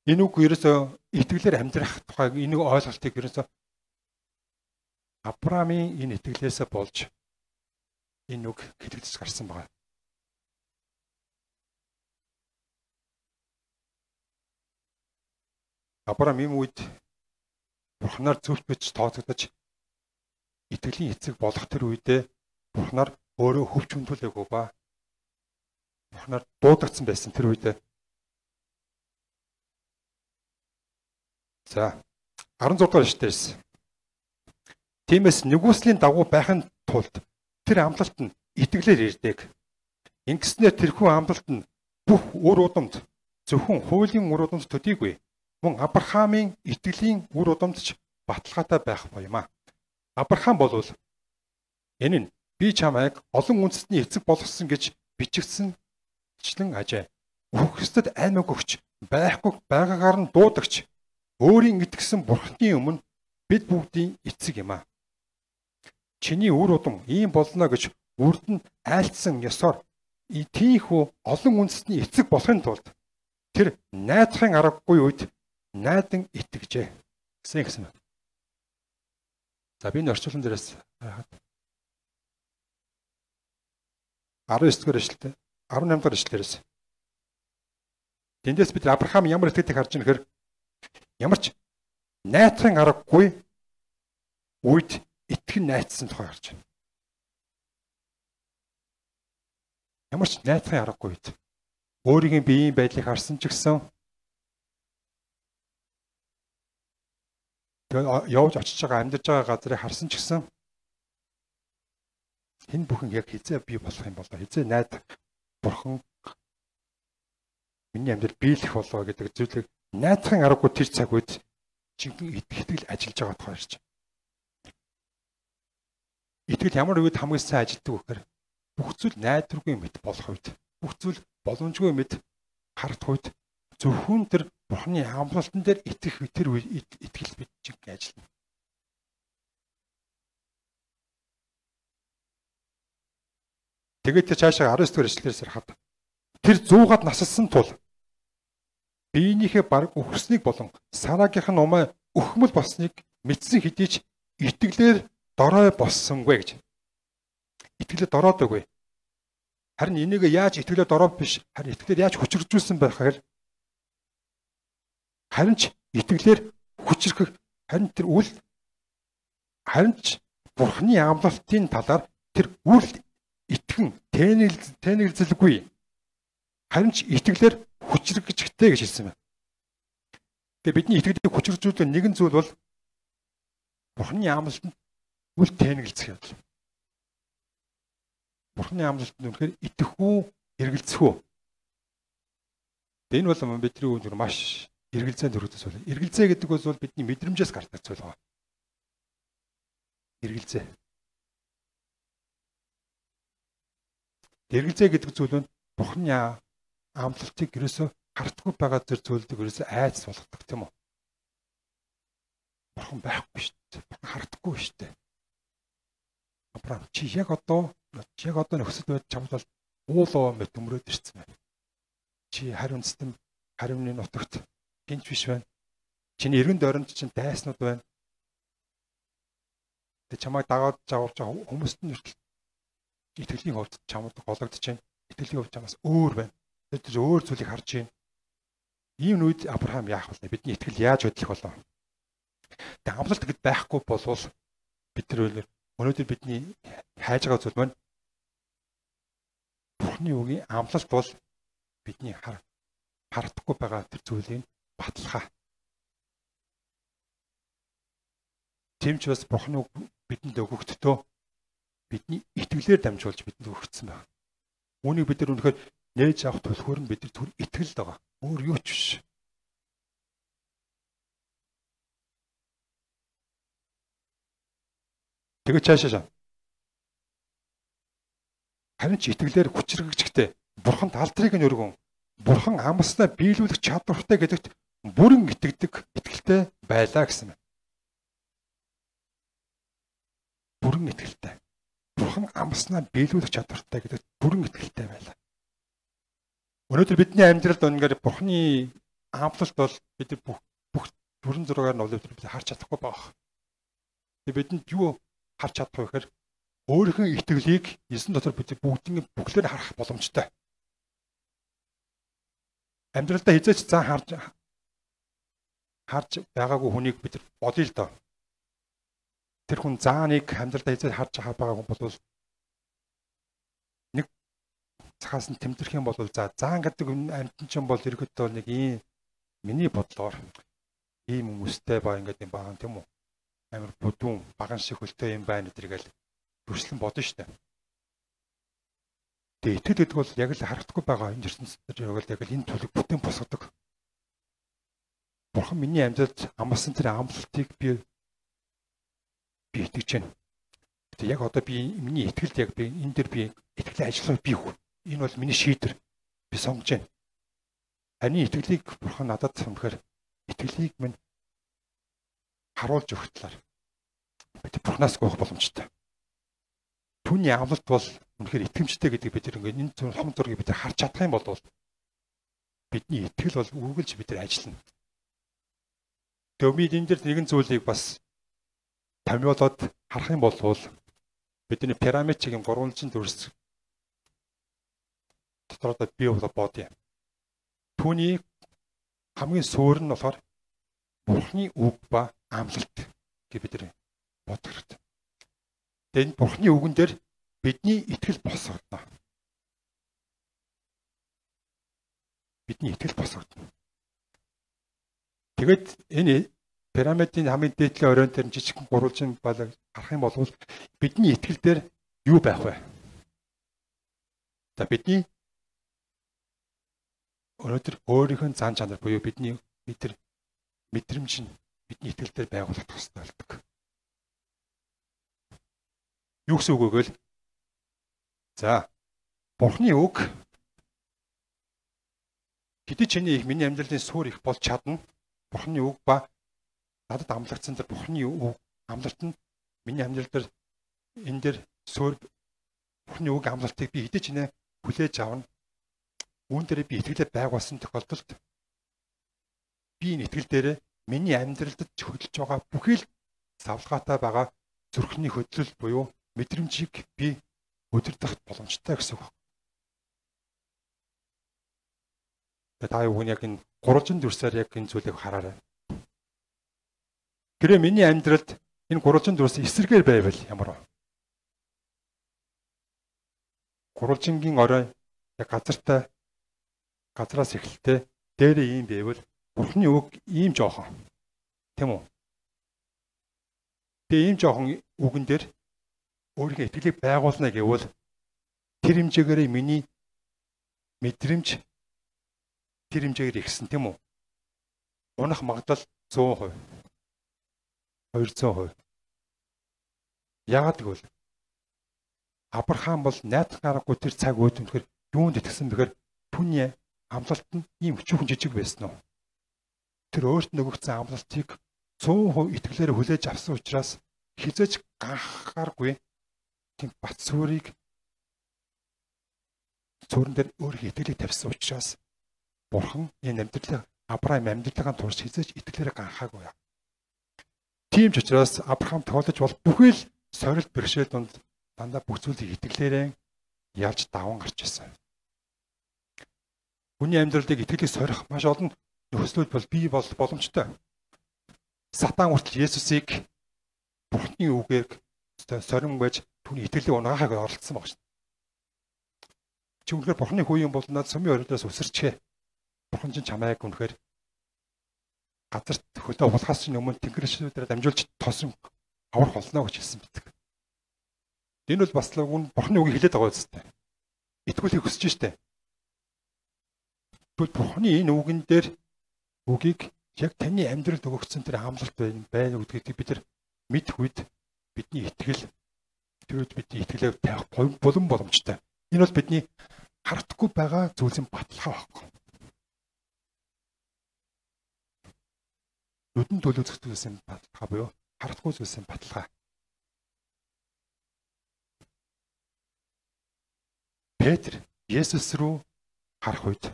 Энэ үг ерөөсөө итгэлээр амьдрах тухайг энэ ойлголтыг ерөөсөө Авраамын энэ итгэлээсээ болж энэ үг хэлэгдэж гарсан байна. Авраам юм үед Бурханаар зөвхт бич тооцогдож итгэлийн эцэг болох тэр үедээ Бурханаар өөрөө хөвч хүндүүлээгүй ба Бурханаар дуудагдсан байсан тэр үедээ. За арван зураг дугаар эшлэлээс тиймээс нэгүслийн дагуу байхын тулд тэр амлалт нь итгэлээр ирдэг. Ингэснээр тэрхүү амлалт нь бүх үр удамд зөвхөн хуулийн үр удамд төдийгүй мөн Авраамын итгэлийн үр удамд ч баталгаатай байх боёмаа. Авраам болвол энэ нь би чамайг олон үндэстний эцэг болгосон гэж бичигдсэнчлэн ажээ. Үхсдэд аймаг өгч байхгүй байгаагаар нь дуудагч өөрийн итгэсэн Бурханы өмнө бид бүгдийн эцэг юм аа. Чиний үр удам ийм болно гэж үрд нь айлтсан ёсоор тийхүү олон үндэстний эцэг болохын тулд тэр найдахын аргагүй үед найдан итгэжээ. гэсэн гэсэн байна. За би энэ орчуулсан дээрээс харахад дөрөв дугаар эшлэлтэй дөрөв дугаар эшлэлээс тэндээс бид Авраам ямар итгэдэг харж байгаа нөхөр ямар ч найтрын аргагүй үед итгэн найцсан тухай харж байна. Ямар ч найтрын аргагүй үед өөрийн биеийн байдлыг харсан ч гэсэн тэгээ явж очиж байгаа амьдарч байгаа газрыг харсан ч гэсэн энэ бүхэн яг хизээ бий болох юм болоо хизээ найд бурхан миний амьдрал биелэх болоо гэдэг зүйлийг найдахын аргагүй тэр цаг үед жинхэнэ итгэл ажиллаж байгаа тухай ярьж байна. Итгэл ямар үед хамгийн сайн ажилтдаг вэ гэхээр бүх зүйл найдваргүй мэт болох үед бүх зүйл боломжгүй мэт харах үед зөвхөн тэр бурханы амлалтан дээр итгэх тэр итгэл бид жинхэнэ ажиллана. Тэгээд тэр цаашаа дөрөв дугаар эшлэлээс харахад тэр зуугаад насалсан тул биенийхээ баг өхөрснийг болон сараагийнх нь умаа өхмөл болсныг мэдсэн хэдий ч итгэлээр дорой боссонгүй гэж. Итгэлээр дороодоггүй. Харин энийг яаж итгэлээр дороо биш харин итгэлээр яаж хүчржүүлсэн байх гэхээр харин ч итгэлээр хүчрэх харин тэр үл харин ч бурхны амлалтын талаар тэр үл итгэн тэнэглэлгүй харин ч итгэлээр хүчрэгчтэй гэж хэлсэн байна. Тэгээ бидний итгэлийг хүчрэгжүүлэх нэгэн зүйл бол бурхны амлалтанд үл тэнэглэх явдал. Бурхны амлалтанд үнэхээр итгэх үү, эргэлзэх үү? Энэ бол бидний үүнд маш эргэлзээнд өргөдөж байна. Эргэлзээ гэдэг бол бидний мэдрэмжээс гардаг зүйл байна. Эргэлзээ. Эргэлзээ гэдэг зүйл нь бурхны амлалтыг ерөөсө хардггүй байгаа зэр зүйлдэг ерөөсө айц болгодог тийм үү? Бурхан байхгүй шүү дээ. Бурхан хардггүй шүү дээ. Авраам чи яг одоо яг одоо нөхцөл байдал чамд бол уулоо мэт өмрөөд ирсэн байна. Чи хариун систем хариуны нутагт гинж биш байна. Чиний эргэн дойронд чинь дайснууд байна. Тэг чамайг дагаад зааварж байгаа хүмүүст нь итгэлийн хувьд чамд гологдож байна. Итгэлийн хувьд чамаас өөр байна. Тэр өөр зүйлийг харж байна. Ийм үед Авраам яах вэ? Бидний итгэл яаж хөдлөх болов? Тэг амлалт гэд байхгүй болвол бид тэр өнөөдөр бидний хайж байгаа зүйл маань Бурхны үгийн амлалт бол бидний хардахгүй байгаа тэр зүйлийг баталгаа. Тэмч бас Бурхны үг бидэнд өгөгдтөө бидний итгэлээр дамжуулж бидэнд өгөгдсөн байна. Үүнийг бид нар үнэхээр нээж авах төлхөөр нь бид нар түр итгэл байгаа. Өөр юу ч биш. Тэгээ цаашаа. Харин ч итгэлээр хүчрэгчтэй Бурханд алдрыг нь өргөн Бурхан амласнаа биелүүлэх чадвартай гэдэгт бүрэн итгэдэг итгэлтэй байлаа гэсэн байна. Бүрэн итгэлтэй. Бурхан амласнаа биелүүлэх чадвартай гэдэгт бүрэн итгэлтэй байлаа. Өнөөдөр бидний амьдралд үнээр Бурханы амлалт бол бид бүх бүх бүрэн зургаар нь олоод бид харж чадахгүй байх. Тэгээ бидэнд юу харж чадах вэ гэхээр өөрийнхөө итгэлийг эзэн дотор бид бүгднийг бүхлээр харах боломжтой. Амьдралдаа хизээч зан харж харж байгаагүй хүнийг бид бодъё л доо. Тэр хүн зааныг амьдралдаа хизээч харж байгаа хүн бол нэг цахаас нь тэмдэрх юм бол за заан гэдэг амьтан ч юм бол ерөөдөө нэг ийм миний бодлоор ийм хүмүүстэй ба ингээд юм бахан тийм үү? Амар бүдүүн баган шиг хөлтэй юм байна гэдэргээл төрслөн бодно шүү дээ. Тэгээ итгэл гэдэг бол яг л харагдахгүй байгаа энэ ертөнцид яг л яг л энэ төлөв бүтээн босгодог. Бурхан миний амьдралд амласан тэр амлалтыг би би итгэж байна. Тэгээ яг одоо би миний итгэлд яг би энэ дэр би итгэлийн ажлыг би хүү. Энэ бол миний шийдвэр. Би сонгож байна. Харин итгэлийг Бурхан надад сонгохоор итгэлийг минь харуулж өгөх талаар бид Бурханаас гоох боломжтой. Түүний амлалт бол үнэхээр итгэмжтэй гэдэг бид ингээд энэ зөв том зургийг бид харж чадах юм бол бидний итгэл бол үргэлж бид нар ажиллана. Тэгээ би энэ дээр нэгэн зүйлийг бас томьёолоод харах юм бол бидний пирамидын гурванжин дүрс дотороо бий бодъё. Түүний хамгийн суурь нь болохоор Бурхны үг ба амлалт гэж бид нэр бодох хэрэгтэй. Тэгээд энэ Бурхны үгэн дээр бидний итгэл босгодно. Бидний итгэл босгодно. Тэгэд энэ пирамидын хамгийн дээдлийн оройн дээр жижигхэн гурвалжин балаг харах юм бол бидний итгэл дээр юу байх вэ? За бидний өнөөдөр өөрийнхөө зан чанар буюу бидний мэдэр мэдрэмж нь бидний итгэл дээр байгуулах хэрэгтэй болдог. Юу гэсэн үг вэ гэвэл за Бурхны үг хэдий чиний их миний амьдралын суурь их болж чадна. Бурхны үг ба надад амлагдсан тэр Бурхны үг амлалт нь миний амьдрал дээр энэ дээр суурь Бурхны үг амлалтыг би хэдий чинээ хүлээж авна. Үүн дээр би итгэлээ байгуулсан тохиолдолд би энэ итгэл дээр миний амьдралд хөдөлж байгаа бүхий л савлгаатай байгаа зүрхний хөдлөл буюу мэдрэмжийг би өдөрдох боломжтой гэсэн үг. Тэгээд та юу яг энэ гурван дүрсээр яг энэ зүйлийг хараарай. Гэрээ миний амьдралд энэ гурван дүрс эсрэгээр байвал ямар вэ? Гурвангийн орой яг газартай газраас эхэлтэй дээрээ ийм байвал Бурхны үг ийм жоохон. Тэм үү? Тэгээ ийм жоохон үгэн дээр өөрийнхөө итгэлийг байгуулна гэвэл тэр хэмжээгээр миний мэдрэмж тэр хэмжээгээр ихсэн тийм үү? Унах магадлал зуун хувь. хоёр зуун хувь. Яагаад гэвэл Авраам бол найдах гаргагүй тэр цаг үед үнэхээр юунд итгэсэн бэхээр түүний амлалт нь ийм өчүүхэн жижиг байсан уу? Тэр өөрт нөгөгцсөн амлалтыг цөөн хувь итгэлээр хүлээж авсан учраас хизээж ганхааргүй тийм бат сүрийг цөөрөн дээр өөрийнхөө итгэлийг тавьсан учраас Бурхан энэ амьдралыг Авраам амьдралын турш хизээж итгэлээр ганхаагүй. Тийм ч учраас Авраам тоолж бол бүхий л сорилт бэрхшээл донд дандаа бүх зүйлийг итгэлээрээ ялж даван гарч ирсэн. Хүний амьдралыг итгэлийг сорих маш олон нөхцлүүд бол бий бол боломжтой. Сатан хүртэл Есүсийг Бурхны үгээр сорин байж түүний итгэлийг унаахыг оролцсон баг шин. Чи үнэхээр Бурхны хүү юм бол над сумын орилоос өсөрчээ. Бурхан чинь чамайг үнэхээр газарт хөлөө улахаас чинь өмнө тэнгэршүүдээр дамжуулж тосон аврах болно гэж хэлсэн бидэг. Энэ бол бас л Бурхны үгийг хэлээд байгаа үстэй. Итгүүлийг хүсэж штэ. Тэгвэл Бурхны энэ үгэн дээр үгийг яг таны амьдралд өгөгдсөн тэр амлалт байна байна гэдгийг бид нар мэдэх үед бидний итгэл тэр үед бидний итгэлээ тавих болон боломжтой. Энэ бол бидний харагдахгүй байгаа зүйлсийн баталгаа байхгүй. Нүдэн төлөвлөсөн зүйлсийн баталгаа буюу харагдахгүй зүйлсийн баталгаа. Петр Есүс рүү харах үед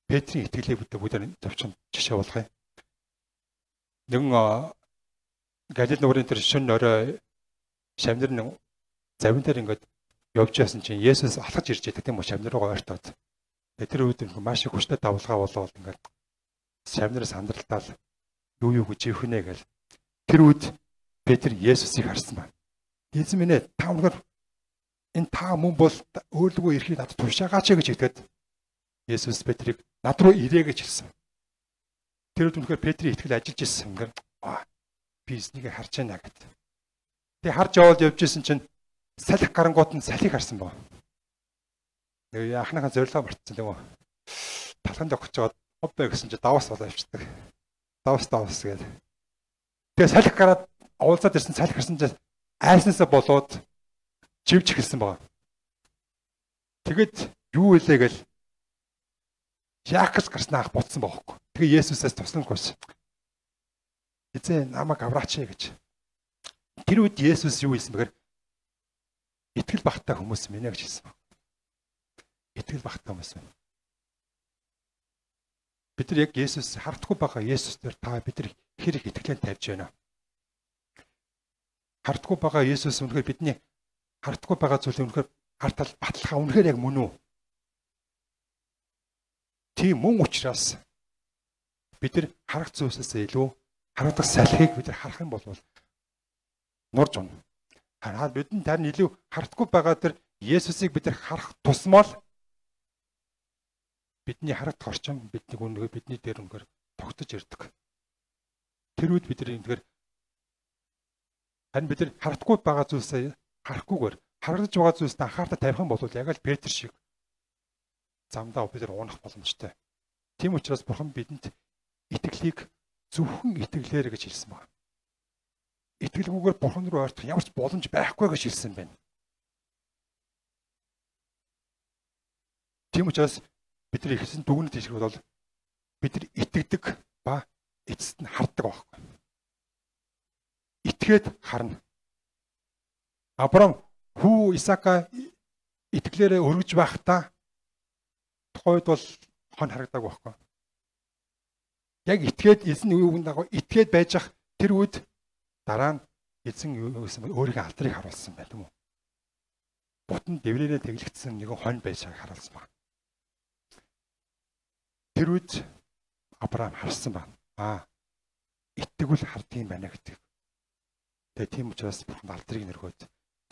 Петрийн итгэлийг бид бүгд товчхон жишээ болгоё. Нэгэн Галил нуурын тэр шөнө орой шамнар нэг завин дээр ингээд явж яасан чинь Есүс алхаж ирж байдаг тийм үү шамнар руу ойртоод. Тэр үед маш их хүчтэй давлгаа болоод ингээд шамнараас хандралтаал юу юу гэж ивхнэ гэл. Тэр үед Петр Есүсийг харсан байна. Эзэн минь ээ та өнөр энэ та мөн бол өөрлөгөө ирэхийг надад тушаагаач гэж хэлгээд Есүс Петрийг над руу ирээ гэж хэлсэн. Тэр үед үнэхээр Петрийн итгэл ажиллаж ирсэн. Ингээд би эзнийг харж байна гэд. Тэг харж яваад явж исэн чинь салхи гарангууд нь салхийг харсан боо. Нэг анхныхаа зорилгоо мартсан тийм үү. Талханд огч жоод хоббэ гэсэн чинь даваас болоо явчихдаг. Даваас даваас гээд. Тэгээ салхи гараад уулзаад ирсэн салхи харсан чинь айснасаа болоод живж эхэлсэн боо. Тэгэд юу илээ гэл Яаков гарснаах буцсан баахгүй. Тэгээ Есүсээс туслан гуйс. Эзэн намайг авраач гэж. Тэр үед Есүс юу хэлсэн бэхээр итгэл багтаа хүмүүс минь гэж хэлсэн. Итгэл багтаа хүмүүс минь. бид нар яг Есүс хардахгүй байгаа Есүс дээр та бид нар хэрэг итгэлээ тавьж байна. Хардахгүй байгаа Есүс үнэхээр бидний хардахгүй байгаа зүйлээ үнэхээр хартал баталгаа үнэхээр яг мөн үү? Тийм мөн учраас бид нар харах зүйлсээс илүү харагдах салхийг бид нар харах юм бол нурж унна. Хараад бидний тань илүү хардахгүй байгаа тэр Есүсийг бид нар харах тусмал бидний харагдах орчин бидний үнэхээр бидний дээр үнэхээр тогтож ирдэг. Тэр үед бид нар үнэхээр харин бид нар хардахгүй байгаа зүйлсээ харахгүйгээр харагдаж байгаа зүйлсээ анхаарал тавих юм бол яг л Петр шиг замдаа бид нар унах боломжтой. Тийм учраас Бурхан бидэнд итгэлийг зөвхөн итгэлээр гэж хэлсэн байна. Итгэлгүйгээр Бурхан руу ойртох ямар ч боломж байхгүй гэж хэлсэн байна. Тийм учраас бид нар ихсэн дүгнэлт хийх бол бид нар итгэдэг ба эцэст нь харддаг байхгүй. Итгээд харна. Авраам хүү Исаака итгэлээрээ өргөж байхдаа тухайд бол хон харагдаг байхгүй. Яг итгээд эзэн үеийн дагуу итгээд байж ах тэр үед дараа нь эзэн юу гэсэн бэ? Өөрийнхөө алдрыг харуулсан байх юм уу? Бутан дэврээрээ тэглэгдсэн нэгэн хонь байж байгааг харуулсан байна. Тэр үед Авраам харсан байна. Аа, итгэвэл хардсан юм байна гэдэг. Тэгээ тийм учраас Бурхан алдрыг нэргөөд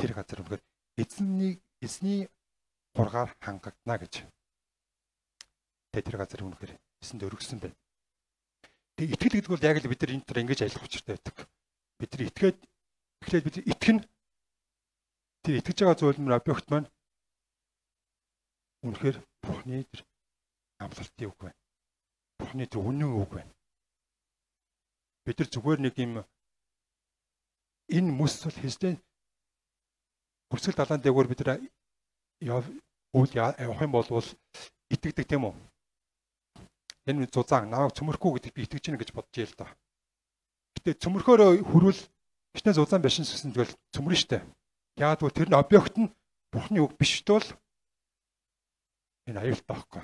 тэр газар үнэхээр эзний эзний хургаар хангагдана гэж. Тэгээ тэр газар үнэхээр эзэнд өргөсөн байна. Тэгээ итгэл гэдэг бол яг л бид нар энэ төр ингэж аялах учиртай байдаг. Бид нар итгээд эхлээд бид итгэн тэр итгэж байгаа зүйл нь объект маань үнэхээр Бурханы тэр амлалтын үг байна. Бурханы тэр үнэн үг байна. Бид нар зүгээр нэг юм энэ мэс бол хэзээ хүрсэл далайн дээгүүр бид нар үйл явах юм бол итгэдэг тийм үү? Энэ зузаан намайг цөмөрхгүй гэдэг би итгэж гэнэ гэж бодож яа л да. Гэтэ цөмөрхөөрөө хүрвэл хичнээн зузаан байшин гэсэн тэгэл цөмөрнө штэ. Яагаад гэвэл тэр нь объект нь Бурханы үг биш тул энэ аюултай байхгүй.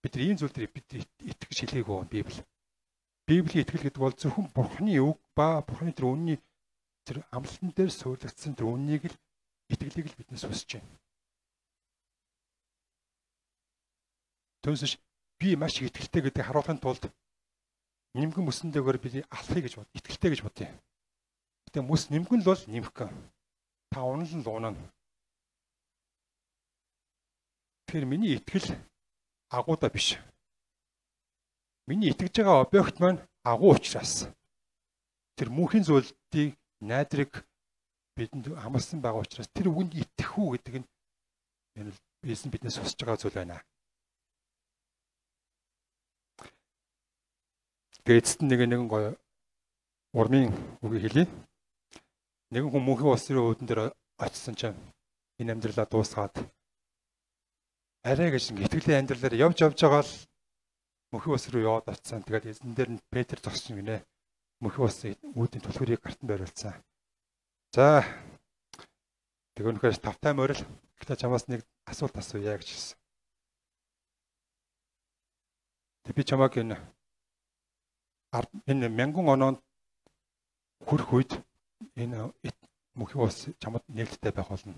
Бид нар ийм зүйл дээр бид итгэж хэлээгөө Библи. Библийн итгэл гэдэг бол зөвхөн Бурханы үг ба Бурханы тэр үнний тэр амлалтан дээр суурьлагдсан тэр үннийг л итгэлийг л биднээс хүсэж байна. Түүнээс би маш их итгэлтэй гэдэг харуулахын тулд нэмгэн мөсөн дээгүүр би алхахыг гэж бод, итгэлтэй гэж бодъё. Гэтэ мөс нэмгэн л бол нэмэх гэн. Та унал нь л унана. Тэгэхээр миний итгэл агуудаа биш. Миний итгэж байгаа объект маань агуу учраас тэр мөнхийн зүйлийг найдрыг бидэнд амласан байгаа учраас тэр үгэнд итгэх үү гэдэг нь энэ бисэн биднээс хүсэж байгаа зүйл байна. Тэгээд эцэст нэг нэгэн гоё урмын үгийг хэлье. Нэгэн хүн мөнхийн улсын үүдэн дээр очисон чинь энэ амьдралаа дуусгаад арай гэж итгэлийн амьдралаар явж явж байгаа л мөнхийн улс руу яваад очисан. Тэгээд эзэн дээр нь Петр зогссон гинэ. Мөнхийн улсын үүдийн түлхүүрийг гартан байруулсан. За тэг өнөхөөс тавтай морил гэхдээ чамаас нэг асуулт асууя гэж хэлсэн. Тэг би чамааг энэ энэ мянган оноонд хүрх үед энэ мөнхийн улс чамд нээлттэй байх болно.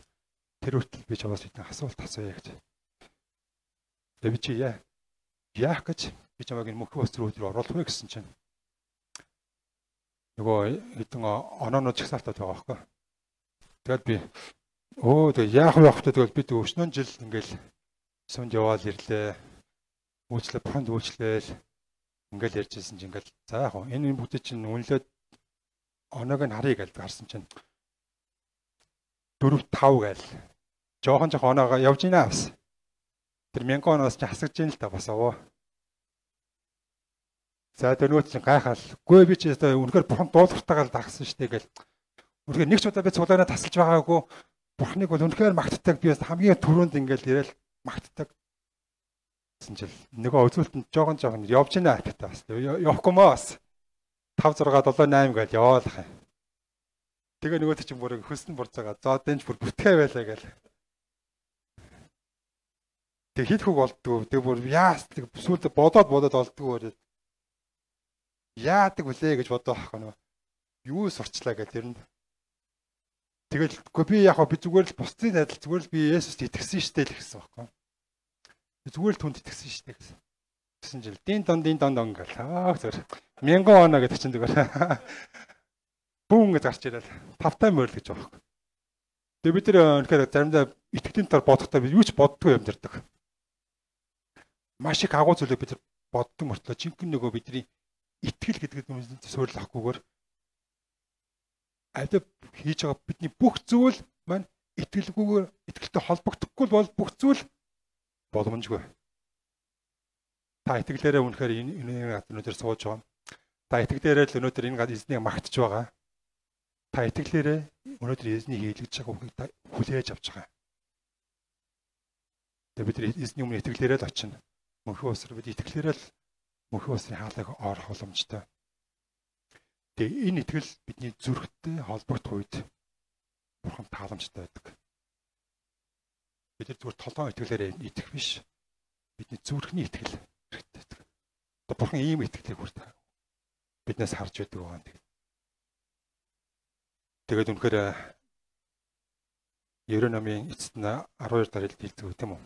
Тэр үртэл би чамаас нэг асуулт асууя гэж. Тэг би чи яа яах гэж би чамааг энэ мөнхийн улс руу оруулах вэ гэсэн чинь нөгөө хэдэн оноонууд чагсаалтаад байгаа байхгүй. Тэгээд би өө тэг яах вэ хөхтэй тэгэл бид өвчнөн жил ингээл сүнд яваал ирлээ. Үйлчлээ бохонд үйлчлээл ингээл ярьжсэн чинь ингээл за яг энэ бүгд чинь үнэлээд оноог нь харъя гэж харсан чинь дөрөв тав гээл жоохон жоохон оноогоо явж ийна бас. Тэр мянган оноос чи хасагч ийн л та бас аваа. За тэрнүүт чинь гайхал. Гүй би чи үнэхээр Бурхан дуулахтайгаа л дагсан штэ гэл. Үнэхээр нэг ч удаа би цуглаанаа тасалж байгаагүй. Бурханыг бол үнэхээр магтдаг. Би бас хамгийн түрүүнд ингээл ирээл магтдаг. Гэсэн чил нөгөө үзүүлэлтэнд жоохон жоохон явж ийна гэдэг бас. Явахгүй маа бас. тавь зураг седем восемь гэж яваалах юм. Тэгээ нөгөөт чинь бүр хөснө бурцаага. За дэнч бүр бүтгээ байлаа гэл. Тэг хит хөг болдгоо. Тэг бүр яас тэг сүлд бодоод бодоод болдгоо. Яадаг вүлээ гэж бодоо ах нөө. Юу сурчлаа гэж тэр нь. Тэгэл үгүй би яг би зүгээр л бусдын адил зүгээр л би Есүст итгэсэн штэ л гэсэн байхгүй. Зүгээр л түнд итгэсэн штэ гэсэн. Гэсэн жил дин дон дин дон дон гэл. Аа зүгээр. Мянган оноо гэдэг чинь зүгээр. Бүүн гэж гарч ирэл. Тавтай морил гэж байгаа. Тэгээ бид нэр үнэхээр заримдаа итгэлийн тар бодохдоо бид юу ч боддгүй юм дэрдэг. Маш их агуу зүйлийг бид боддог мөртлөө жинхэнэ нөгөө бидний итгэл гэдэг нь суурилахгүйгээр аль хийж байгаа бидний бүх зүйл маань итгэлгүйгээр итгэлтэй холбогдохгүй бол бүх зүйл боломжгүй. Та итгэлээрээ үнэхээр энэ өнөөдөр сууж байгаа. Та итгэлээрээ л өнөөдөр энэ гад эзнийг магтж байгаа. Та итгэлээрээ өнөөдөр эзнийг хийлгэж байгаа үгийг та хүлээж авч байгаа. Тэгээ бид эзний өмнө итгэлээрээ л очино. Мөнхөн усраа бид итгэлээрээ л мөнхөн усрын хаалгыг орох боломжтой. Тэгээ энэ итгэл бидний зүрхтэй холбогдох үед бурхан тааламжтай байдаг. Бид нар зүгээр толгойн итгэлээр итгэх биш. Бидний зүрхний итгэл хэрэгтэй байдаг. Одоо бурхан ийм итгэлийг хүрт биднээс харж байдаг байгаа. Тэгээд үнэхээр Ерөн намын эцэст нь арван хоёр дараалал хэлдэг тийм үү?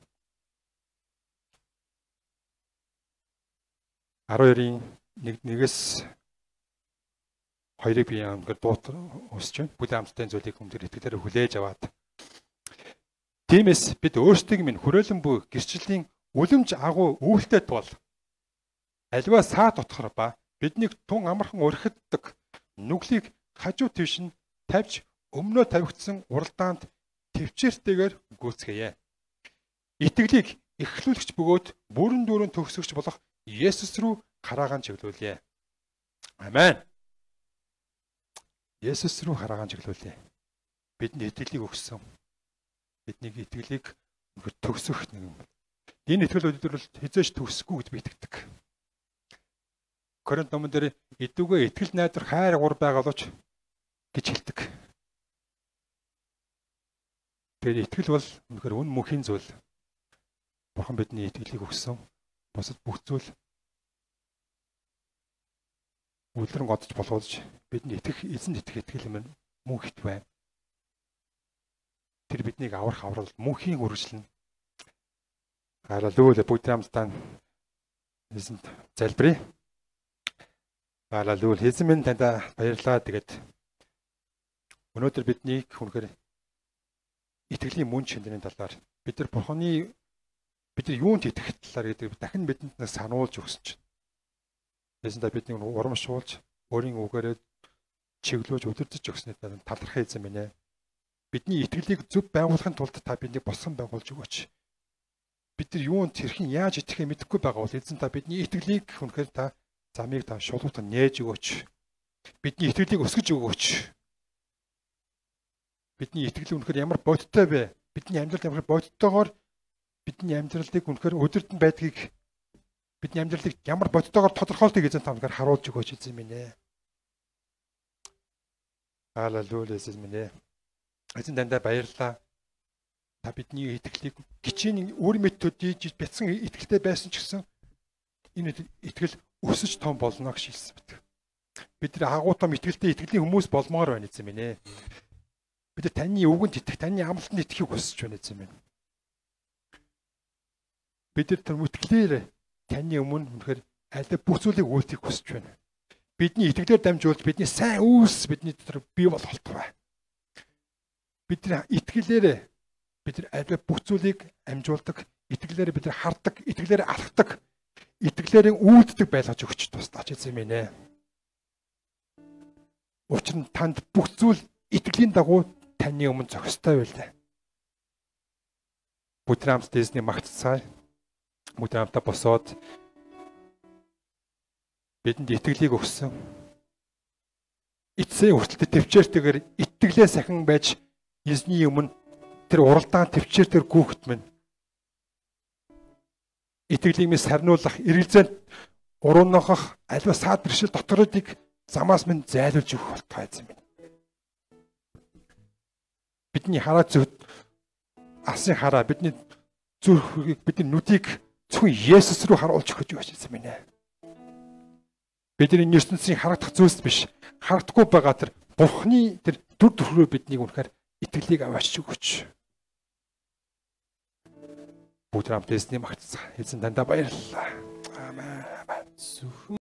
арван хоёрын нэгээс хоёрыг би ингээд дуут усч байна. Бүлээн амттай зүйлийг хүмүүст итгэлээр хүлээж аваад. Тиймээс бид өөрсдийг минь хүрээлэн буй гэрчлэлийн үлэмж агуу өвөлтэй тул аливаа саа дотохор ба биднийг тун амархан өрхөддөг нүглийг хажуу твш нь тавьж өмнөө тавигдсан уралдаанд төвчээртэйгээр гүйцгээе. Итгэлийг эхлүүлэгч бөгөөд бүрэн дүүрэн төгсөгч болох Есүс рүү хараагаан чиглүүлье. Амен. Есүс рүү хараагаан чиглүүлье. Бидний итгэлийг өгсөн. Бидний итгэлийг төгсөх нэг юм. Энэ итгэл өдөр бол хизээш төгсөхгүй гэж би итгэдэг. Коринт номон дээр идүүгээ итгэл найдар хайр гур байгаалууч гэж хэлдэг. Тэгээд итгэл бол үнэхээр үн мөнхийн зүйл. Бурхан бидний итгэлийг өгсөн. Бусад бүх зүйл үлрэн годож болгоож бидний итгэх эзэнд итгэх итгэл юм мөн хит байна. Тэр биднийг аврах аврал мөнхийн үргэлжлэн. Халелуя бүгд хамтдаа эзэнд залбирая. Халелуя эзэн минь танд баярлалаа. Тэгээд өнөөдөр биднийг хүнхээр итгэлийн мөн чанарын талаар бид нар Бурханы бид нар юунд итгэх талаар гэдэг дахин бидэнд сануулж өгсөн чинь. Эзэндээ бидний урамшуулж, өөрийн үгээрээ чиглүүлж өдөрдөж өгснээр талархах эзэн минь ээ. Бидний итгэлийг зөв байгуулахын тулд та биднийг босгон байгуулж өгөөч. Бид нар юунд хэрхэн яаж итгэхээ мэдэхгүй байгаа бол эзэн та бидний итгэлийг хүнхээр та замыг та шулуутан нээж өгөөч. Бидний итгэлийг өсгөж өгөөч. Бидний итгэл үнэхээр ямар бодиттой вэ? Бидний амьдралд ямар бодиттойгоор бидний амьдралыг үнэхээр өдөртөн байдгийг бидний амьдралыг ямар бодиттойгоор тодорхойлтыг эзэн та үнэхээр харуулж өгөөч эзэн минь ээ. Халелуя эзэн минь ээ. Эзэн дандаа баярлалаа. Та бидний итгэлийг гिचийн үр мэд төдийж бяцхан итгэлтэй байсан ч гэсэн энэ итгэл өсөж том болно гэж хэлсэн мэт. Бид нар агуу том итгэлтэй итгэлийн хүмүүс болмоор байна эзэн минь ээ. Бид нар таны үгэнд итгэх, таны амлалтанд итгэхийг хүсэж байна эзэн минь. Бид нар тэр итгэлээр таны өмнө үнэхээр аль бүх зүйлийг үйлдэх хүсэж байна. Бидний итгэлээр дамжуулж бидний сайн үүс бидний дотор бий болох бай. Бид нар итгэлээр бид нар аль бүх зүйлийг амжуулдаг, итгэлээр бид нар хардаг, итгэлээр алхдаг, итгэлээр үйлддэг байлгаж өгч туслаач эзэн минь ээ. Учир нь танд бүх зүйл итгэлийн дагуу таны өмнө зохистой байлаа. Бүтрэмс дэсний магтцай Бүтрэмтаа босоод бидэнд итгэлийг өгсөн. Эцсийн хүртэл төвчээртэйгээр итгэлээ сахин байж эзний өмнө тэр уралдаан төвчээртэр гүөхт минь. Итгэлийг минь сарниулах, эргэлзээнд уруунгах, аливаа саад бэршил дотородыг замаас минь зайлуулж өгөх болтугай эзэн минь. Бидний хараа зөв асын хараа бидний зүрхийг бидний нүдийг зөвхөн Есүс рүү харуулж өгч байж байгаа юм байна. Бидний ертөнцийн харагдах зүйлс биш, харагдахгүй байгаа тэр Бурхны тэр дүр төрхөөр биднийг үнэхээр итгэлийг аваач өгөөч. Бүгд хамт эзний магтцаа. Эзэн дандаа баярлалаа. Аамен.